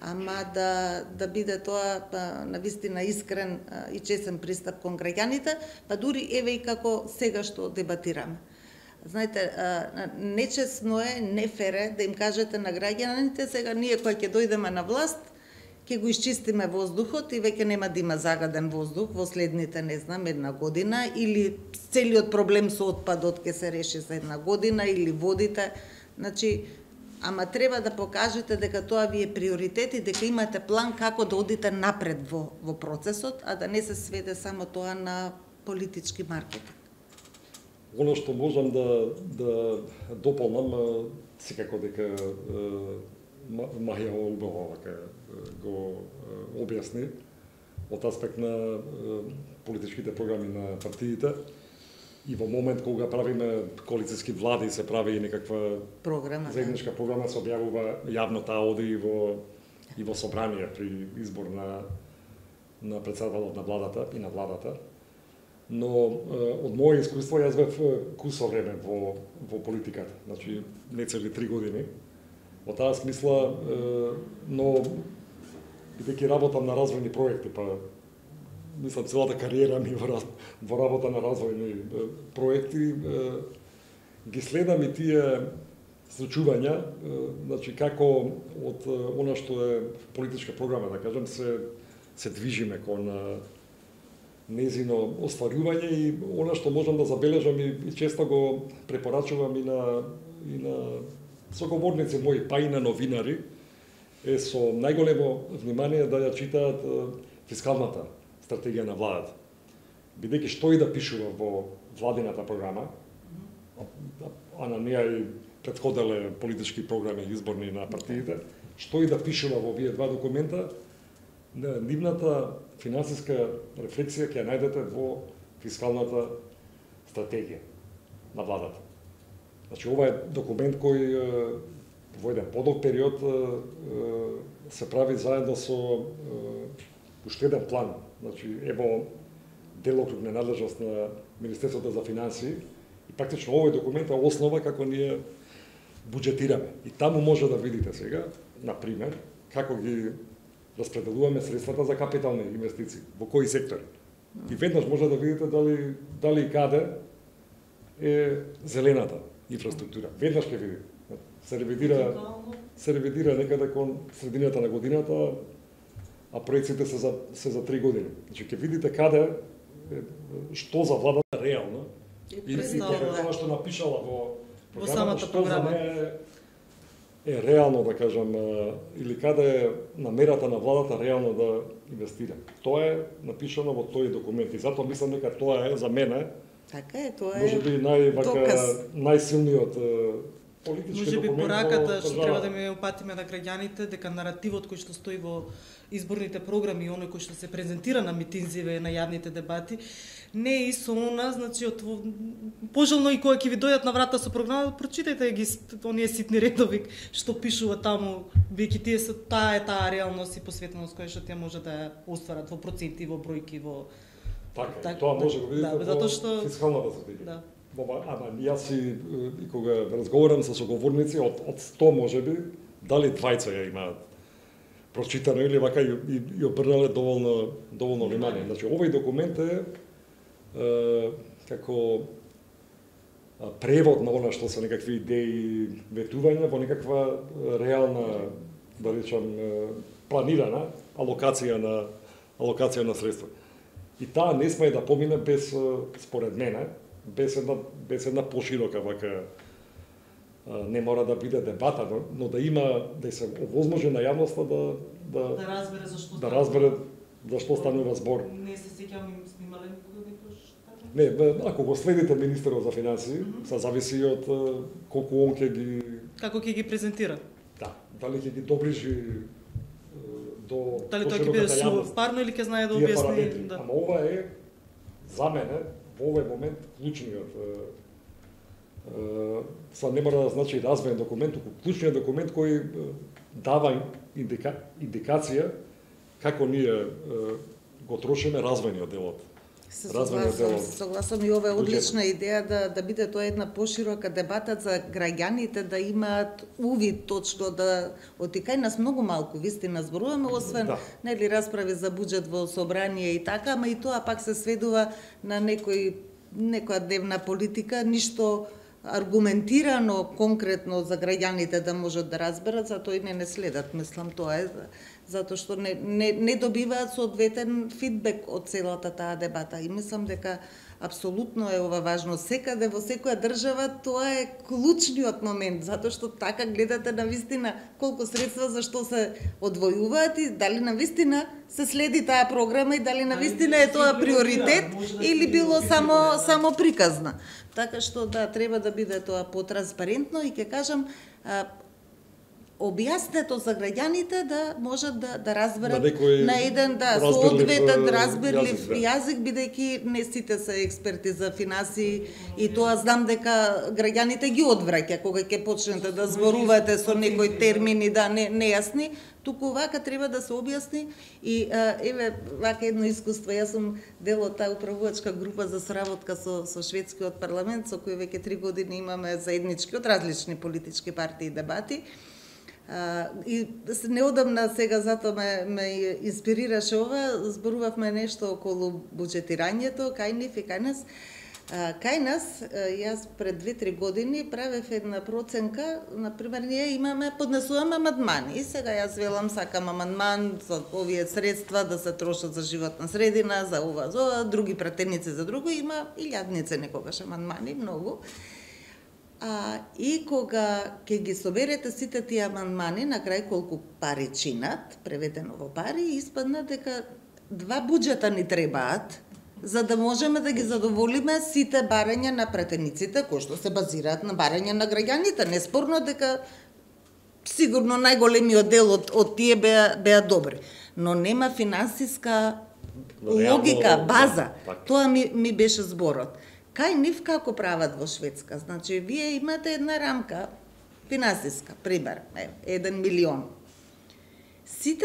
ама да, да биде тоа а, навистина искрен а, и чесен пристап кон граѓаните, па дури еве и како сега што дебатираме. Знаете, нечесно е, нефер е да им кажете на граѓаните, сега ние кои ќе дојдеме на власт, ќе го исчистиме воздухот и веќе нема да има загаден воздух во следните, не знам, една година, или целиот проблем со отпадот ќе се реши за една година, или водите. Значи, ама треба да покажете дека тоа ви е приоритет и дека имате план како да одите напред во, во процесот, а да не се сведе само тоа на политички маркетинг. Оно што можам да да дополнам, секако дека Маја убаво вака го објасни од аспект на политичките програми на партиите, и во момент кога правиме коалициски влади, се прави и некаква програма, заедничка програма, се објавува јавно, таа оди и во и во собрание при избор на на претседателот на владата и на владата. Но од моје искуство јас бев кусо време во во политиката, значи не цели три години. Во таа смисла, но бидејќи работам на развојни проекти, па мислам целата кариера ми во, во работа на развојни проекти, ги следам и тие случувања, значи како од она што е политичка програма, да кажем, се се движиме кон незино остварување, и она што можам да забележам и, и често го препорачувам и на и на соговорници мои, па и на новинари, е со најголемо внимание да ја читаат фискалната стратегија на владата. Бидејќи што и да пишува во владината програма, а на неа и претходеле политички програми изборни на партиите, што и да пишува во овие два документа, нивната финансиска рефлексија ќе ја најдете во фискалната стратегија на владата. Значи, ова е документ кој во еден подолг период се прави заедно со уште еден план. Значи, ево делокруг на надлежност на Министерството за финансии, и практично овој документ е основа како ние буџетираме. И таму може да видите сега, на пример, како ги распределуваме средствата за капитални инвестиции, во кои сектори. И веднаш може да видите дали дали и каде е зелената инфраструктура. Веднаш ќе видите. Се ревидира се ревидира некаде кон средината на годината, а проекциите се за се за три години. Значи ќе видите каде што за владата реално и, и тоа што напишала во во самата програма. е реално, да кажам, или каде е намерата на владата реално да инвестира. Тоа е напишано во тој документ и затоа мислам дека тоа е за мене така е, тоа е можеби нај најсилниот политички може би документ. пораката што треба да ме упатиме на граѓаните дека наративот кој што стои во изборните програми и оној кој што се презентира на митинзиве на јавните дебати не е со она, значи од пожелно и кога ќе ви дојдат на врата со програма, прочитајте ги оние ситни редови што пишува таму, веќе тие се таа е таа реалност и посветеност која што тие може да ја остварат во проценти, во бројки, во така, так, тоа може да го видите да, во што... фискалната стратегија. Да. Ама јас и, и кога разговарам со соговорници од од сто можеби, дали двајца ја имаат прочитано или вака и, и, и обрнале доволно доволно внимание. Значи овој документ е, е како превод на она што се некакви идеи, ветувања во некаква реална, да речам, планирана алокација на алокација на средства. И таа не сме да помине без, според мене, без една, без една поширока вака, не мора да биде дебата, но, но да има, да се овозможи на јавноста да да, да разбере зашто да разбере зашто станува збор. Не се сеќавам имале никога некош така? Не, ако го следите министерот за финансии, mm -hmm. се зависи од колку он ќе ги како ќе ги презентира. Да, дали ќе ги доближи до дали тоа ќе биде суварно или ќе знае да објасни, да. Ама ова е за мене во овој момент клучниот са не мора да значи развоен документ, туку клучниот документ кој дава индика, индикација како ние го трошиме развојниот дел од Се согласам, се согласам и ова е одлична идеја да да биде тоа една поширока дебата за граѓаните да имаат увид точно да отикај нас многу малку вистина зборуваме освен да. Нели расправи за буџет во собрание и така, ама и тоа пак се сведува на некој некоја дневна политика, ништо аргументирано, конкретно за граѓаните да можат да разберат, затоа и не не следат, мислам тоа е затоа што не, не, не добиваат соодветен фидбек од целата таа дебата и мислам дека апсолутно е ова важно. Секаде во секоја држава тоа е клучниот момент, затоа што така гледате на вистина колку средства за што се одвојуваат и дали на вистина се следи таа програма и дали на вистина е тоа приоритет или било само само приказна. Така што да, треба да биде тоа потранспарентно и ќе кажам објаснето за граѓаните да можат да да разберат да на еден да соодветен разберлив јазик, јазик бидејќи не сите се експерти за финансии и тоа знам дека граѓаните ги одвраќа кога ќе почнете да зборувате со некои термини да не нејасни, туку вака треба да се објасни и а, еве вака едно искуство, јас сум дел од таа управувачка група за соработка со со шведскиот парламент со кој веќе три години имаме заеднички од различни политички партии дебати. Uh, и неодамна сега затоа ме, ме инспирираше ова, зборувавме нешто околу буџетирањето, кај нив и кај нас. Uh, кај нас, uh, јас пред две-три години правев една проценка, например, ние имаме, поднесуваме амандмани. И сега јас велам, сакам амандман за овие средства да се трошат за животна средина, за ова, за ова, други пратеници за друго, има илјадници некогаш амандмани, многу. А, и кога ќе ги соберете сите тие амандмани, на крај колку пари чинат, преведено во пари, испадна дека два буџета ни требаат, за да можеме да ги задоволиме сите барања на пратениците, кои што се базираат на барања на граѓаните. Неспорно дека сигурно најголемиот дел од, од тие беа, беа добри. Но нема финансиска логика, база. Тоа ми, ми беше зборот. Кај нив како прават во Шведска? Значи, вие имате една рамка финансиска, пример, еден милион. Сите,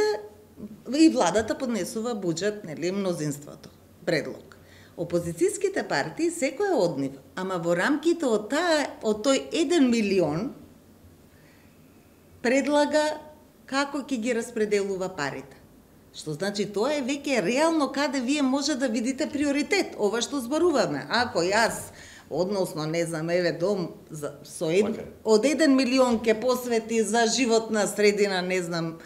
и владата поднесува буџет, нели, мнозинството, предлог. Опозицијските партии, секоја од нив, ама во рамките од, таа, од тој еден милион, предлага како ќе ги распределува парите. Што значи тоа е веќе реално каде вие може да видите приоритет, ова што зборуваме. Ако јас, односно, не знам, еве дом за, со ед, од еден милион ќе посвети за животна средина, не знам,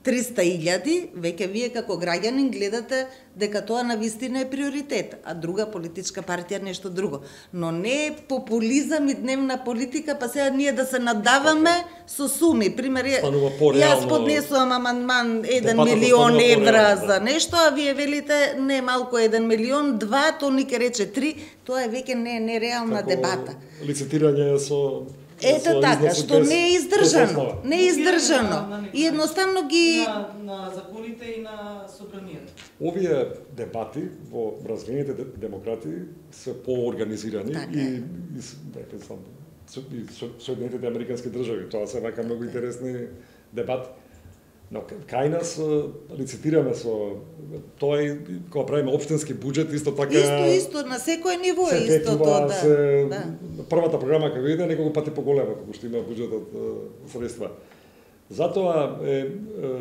триста илјади, веќе вие како граѓанин гледате дека тоа навистина е приоритет, а друга политичка партија нешто друго. Но не е популизам и дневна политика, па сега ние да се надаваме со суми. Пример, јас поднесувам амандман еден милион евра за нешто, а вие велите не малку еден милион, два, то нике рече три, тоа е веќе не нереална дебата. Лицитирање со Ето така, што не е издржано, не е издржано. И едноставно ги на, на законите и на собранието. Овие дебати во развиените демократии се поорганизирани така. и и дека сам и Соединетите американски држави, тоа се вака многу интересни дебати. Но кај нас лицитираме со тоа и кога правиме општински буџет исто така Исто исто на секој ниво е исто тоа, да. Се, да. Првата програма кога иде неколку пати поголема кога што има буџетот средства. Затоа е, е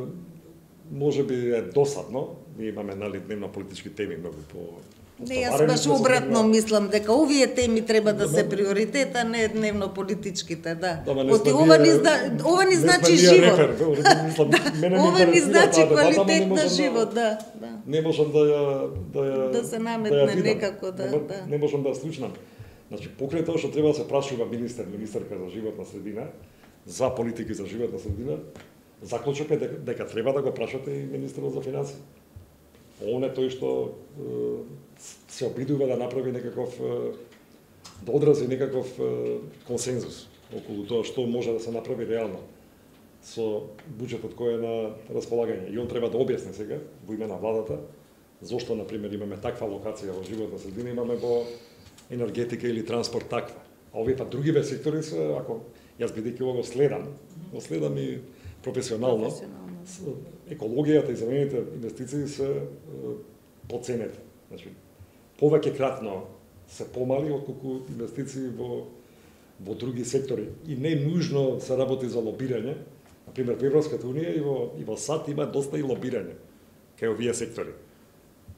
можеби е досадно, ние имаме нали дневно политички теми многу по Не, јас баш обратно мислам дека овие теми треба да се приоритет, а не дневно политичките, да. Оти ова ни зна... ова ни значи живот. Ова ни значи квалитет на живот, да, да. Не можам да ја да ја да се наметне некако, да, да. Не можам да слушнам. Значи покрај тоа што треба да се прашува министер, министерка за животна средина, за политики за животна средина, заклучок е дека, дека треба да го прашате и министерот за финансии. Он е тој што се обидува да направи некаков, да одрази некаков консензус околу тоа што може да се направи реално со буџетот кој е на располагање. И он треба да објасни сега, во име на владата, зошто, например, имаме таква локација во животна средина, имаме во енергетика или транспорт таква. А овие па другиве сектори се, ако јас бидејќи ова го следам, го следам и професионално, професионално. Екологијата и зелените инвестиции се поценети. Значи, повеќе кратно се помали отколку инвестиции во во други сектори и не нужно се работи за лобирање. Например, во Европската унија и во и во САД има доста и лобирање кај овие сектори.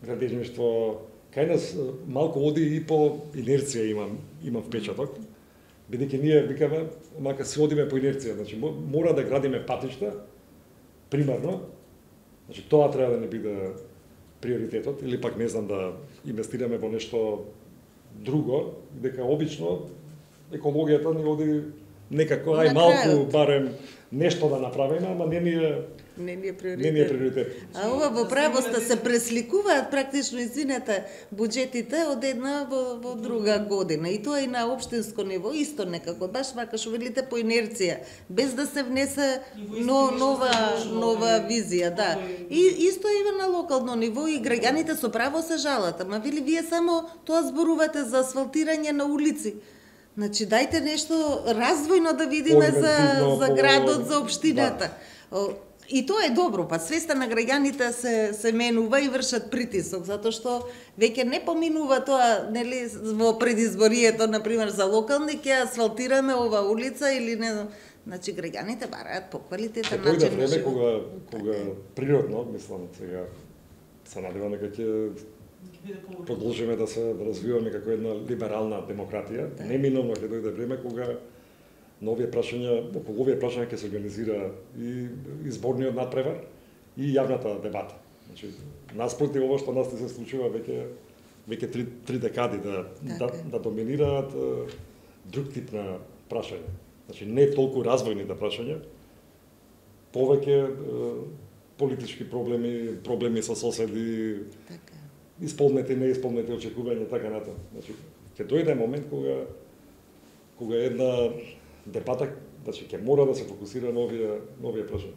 Градежништво кај нас малку оди и по инерција имам имам впечаток. Бидејќи ние викаме, мака се одиме по инерција, значи мора да градиме патишта примарно. Значи тоа треба да не биде приоритетот или пак не знам да инвестираме во нешто друго, дека обично екологијата ни оди некако ај малку барем нешто да направиме, ама не ни е не ни е приоритет. Не ни е приоритет. А ова во правоста се пресликуваат практично извинете буџетите од една во, во друга година и тоа и на општинско ниво исто некако баш вака што велите по инерција без да се внесе но, нова нова визија, да. И исто и на локално ниво и граѓаните со право се жалат, ама вели вие само тоа зборувате за асфалтирање на улици. Значи дајте нешто развојно да видиме за за градот, за општината. Да. И тоа е добро, па свеста на граѓаните се се менува и вршат притисок, затоа што веќе не поминува тоа, нели, во предизборието, на пример за локални ќе асфалтираме ова улица или не, значи граѓаните бараат поквалитетен начин на живот. Кога кога природно, мислам сега се надевам дека ќе продолжиме да се развиваме како една либерална демократија. Да. Неминовно ќе дојде време кога на овие прашања, околу овие прашања ќе се организира и изборниот надпревар и јавната дебата. Значи, наспроти ова што нас не се случува веќе веќе три, три декади да, да, да доминираат друг тип на прашања. Значи, не толку развојните прашања, повеќе политички проблеми, проблеми со соседи, така. Исполнети, неисполнети очекувања, така натаму. Значи, ќе дојде момент кога кога една дебата, значи ќе мора да се фокусира на овие на овие прашања.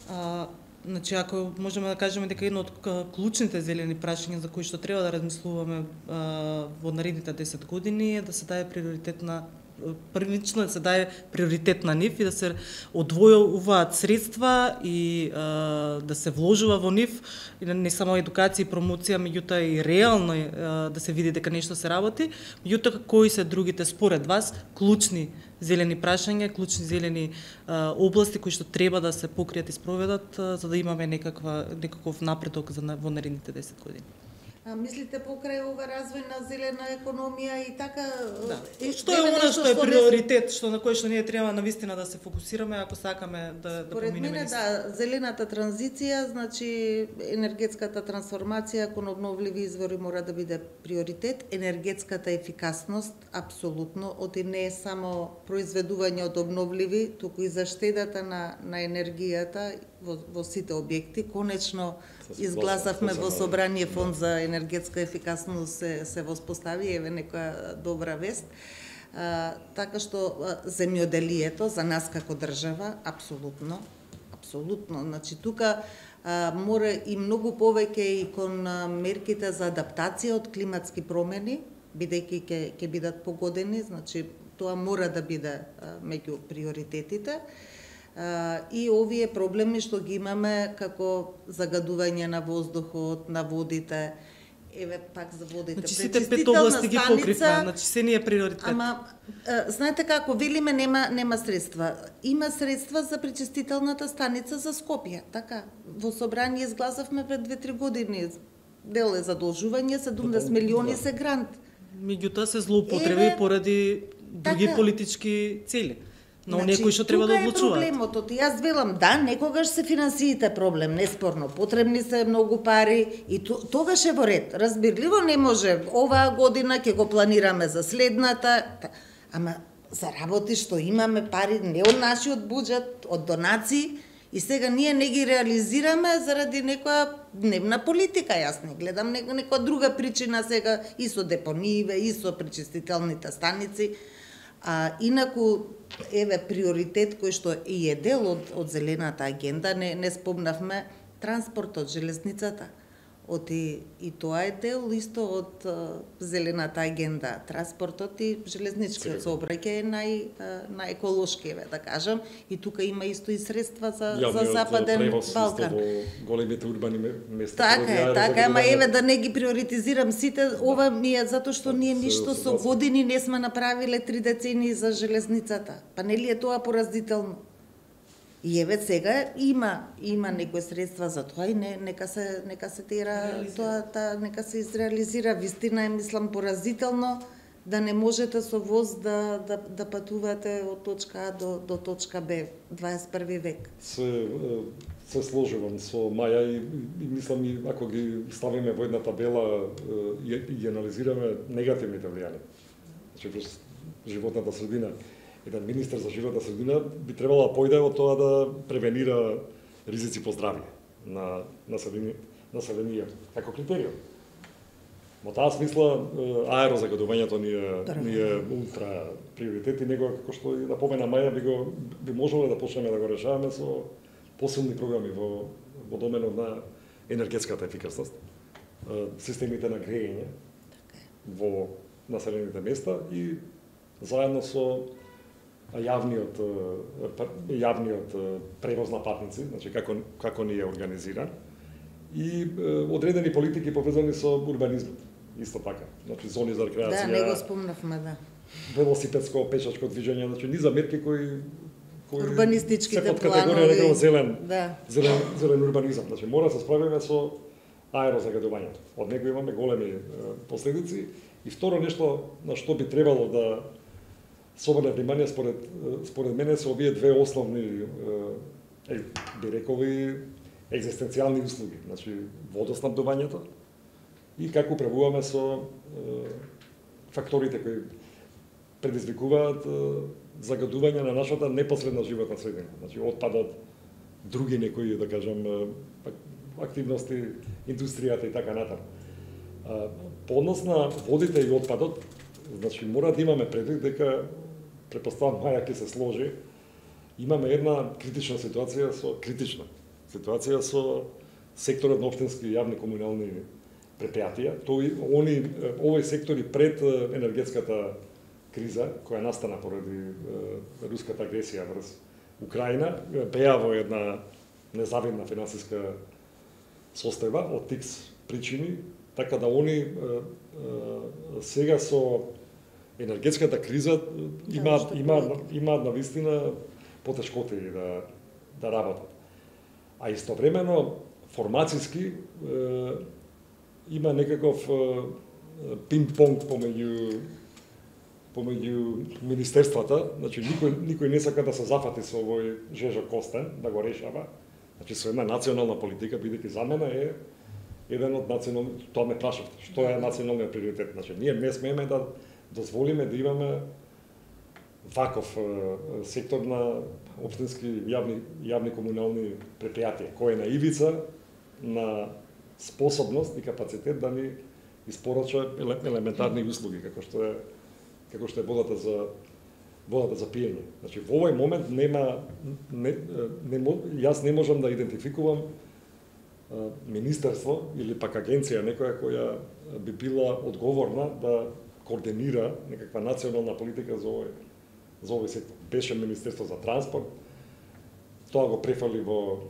А, значи ако можеме да кажеме дека едно од клучните зелени прашања за кои што треба да размислуваме а, во наредните десет години е да се даде приоритет на првично да се даде приоритет на нив и да се одвојуваат средства и а, да се вложува во нив и не само едукација и промоција, меѓутоа и реално а, да се види дека нешто се работи. Меѓутоа кои се другите според вас клучни зелени прашања, клучни зелени а, области кои што треба да се покријат и спроведат а, за да имаме некаква некаков напредок за во наредните десет години? А мислите покрај ова развој на зелена економија и така... Да. И што е она што е приоритет, што на кој што ние треба навистина да се фокусираме ако сакаме да да поминеме? Според мене да, зелената транзиција, значи енергетската трансформација кон обновливи извори мора да биде приоритет, енергетската ефикасност апсолутно, оти не е само произведување од обновливи, туку и заштедата на на енергијата во, во сите објекти. Конечно изгласавме во собрание фонд за енергетска ефикасност се, се воспостави, еве некоја добра вест. А, така што земјоделието за нас како држава апсолутно, апсолутно. Значи тука а, мора и многу повеќе и кон а, мерките за адаптација од климатски промени, бидејќи ќе ќе бидат погодени, значи тоа мора да биде а, меѓу приоритетите. Uh, и овие проблеми што ги имаме како загадување на воздухот, на водите, еве пак за водите. Значи сите пет области ги покривме, значи се ни е приоритет. Ама uh, знаете како, велиме нема нема средства. Има средства за пречистителната станица за Скопје, така. Во собрание изгласавме пред две-три години. Дел е задолжување, седумдесет милиони се грант. Меѓутоа се злоупотреби еве, поради други така, политички цели. Но значи, некои што треба да одлучуваат. Тука е проблемот, јас велам, да, некогаш се финансиите проблем, неспорно, потребни се многу пари и тогаш е во ред. Разбирливо не може, оваа година ќе го планираме за следната, ама за работи што имаме пари не од нашиот буџет, од донации, и сега ние не ги реализираме заради некоја дневна политика, јас не гледам некоја друга причина сега и со депонииве, и со пречистителните станици. А инаку, еве, приоритет кој што и е дел од, од зелената агенда, не, не спомнавме транспортот, железницата. Оти, и тоа е дел исто од uh, зелената агенда. Транспортот и железничкиот сообраќај е нај, uh, најеколошки, еве, да кажам. И тука има исто и средства за, за Западен Балкан. Во големите урбани места. Така е, така, ама еве да не ги приоритизирам сите, ова ми е затоа што ние ништо со години не сме направиле три децении за железницата. Па нели е тоа поразително? И еве сега има има некои средства за тоа и не, нека се нека се тера тоа, та, нека се изреализира. Вистина е, мислам, поразително да не можете со воз да да да патувате од точка А до до точка Б дваесет и први век. Се се сложувам со Маја и, и мислам и ако ги ставиме во една табела и, и ги анализираме негативните влијанија. Значи врз животната средина. Еден министер за животна средина би требало да појде од тоа да превенира ризици по здравје на населението како критериум. Во таа смисла аерозагадувањето ни е, ни е ултра приоритет и него, како што и напомена Маја, би го би можело да почнеме да го решаваме со посилни програми во во доменот на енергетската ефикасност, системите на грејење во населените места и заедно со јавниот јавниот превоз на патници, значи како како ни е организиран и одредени политики повезани со урбанизмот, исто така. Значи зони за рекреација. Да, не го спомнавме, да. Велосипедско, пешачко движење, значи низа мерки кои кои урбанистичките планови, категорија зелен, да. зелен зелен урбанизам. Значи мора да се справиме со аерозагадувањето. Од него имаме големи последици и второ нешто на што би требало да се обрне внимание според според мене се овие две основни е, би рекол и екзистенцијални услуги, значи водоснабдувањето и како управуваме со е, факторите кои предизвикуваат е, загадување на нашата непосредна животна средина, значи отпадот, други некои, да кажам, активности, индустријата и така натаму. По однос на водите и отпадот, значи мора да имаме предвид дека претпоставам Маја ќе се сложи, имаме една критична ситуација со критична ситуација со секторот на општински јавни комунални предпријатија. Тој они овој сектори пред енергетската криза која настана поради е, руската агресија врз Украина беа во една незавидна финансиска состојба од тикс причини, така да они е, е, сега со енергетската криза имаат имаат имаат навистина потешкоти да да работат. А истовремено формациски е, има некаков пинг-понг помеѓу помеѓу министерствата, значи никој никој не сака да се зафати со овој Жежо Костен да го решава. Значи со една национална политика, бидејќи за мене е еден од национални, тоа ме прашавте, што е националниот приоритет. Значи ние не смееме да дозволиме да имаме ваков сектор на општински јавни јавни комунални предпријатија, кој е на ивица на способност и капацитет да ни испорача елементарни услуги, како што е како што е водата за водата за пиење. Значи во овој момент нема не, не, јас не можам да идентификувам министерство или пак агенција некоја која би била одговорна да координира некаква национална политика за овој за овој сектор. Беше Министерство за транспорт, тоа го префали во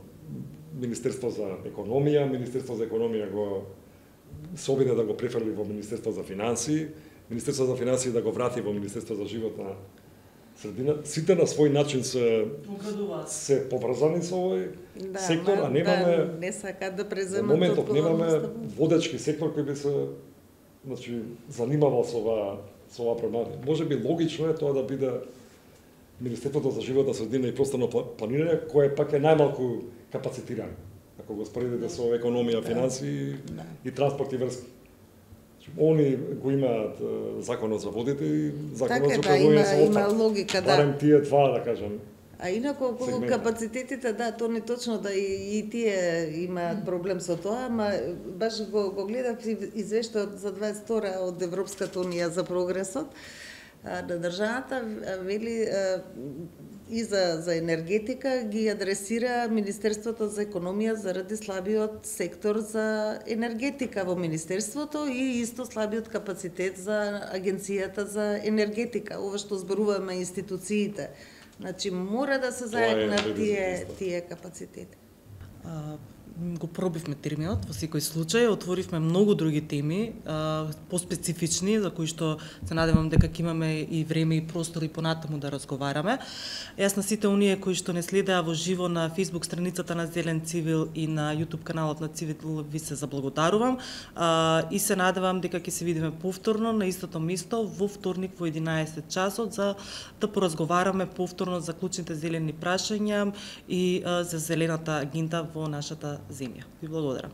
Министерство за економија, Министерство за економија го се обиде да го префали во Министерство за финансии, Министерство за финансии да го врати во Министерство за животна средина. Сите на свој начин се се поврзани со овој да, сектор, а немаме да, не сакаат да преземат во моментов немаме водечки сектор кој би се значи занимавал со ова со ова проблема. Можеби логично е тоа да биде Министерството за животна средина и просторно планирање, кое пак е најмалку капацитирано. Ако го споредите со економија, финансии да. И транспорт и врски. Они го имаат законот за водите и законот така, за управување со има, има логика, да. Барем тие два, да кажем. А инаку околу капацитетите, да, тоа не точно да и, и тие имаат проблем со тоа, ама баш го, го гледав извештајот за дваесет и втора од Европската унија за прогресот на државата, вели и за, за енергетика ги адресира Министерството за економија заради слабиот сектор за енергетика во Министерството и исто слабиот капацитет за Агенцијата за енергетика, ова што зборуваме институциите. Значи мора да се заеднат тие тие капацитети. А, го пробивме терминот во секој случај, отворивме многу други теми, а, поспецифични, за кои што се надевам дека ќе имаме и време и простор и понатаму да разговараме. Јас на сите оние кои што не следеа во живо на Facebook страницата на Зелен Цивил и на YouTube каналот на Цивил ви се заблагодарувам а, и се надевам дека ќе се видиме повторно на истото место во вторник во единаесет часот за да поразговараме повторно за клучните зелени прашања и а, за зелената агенда во нашата земја. Ви благодарам.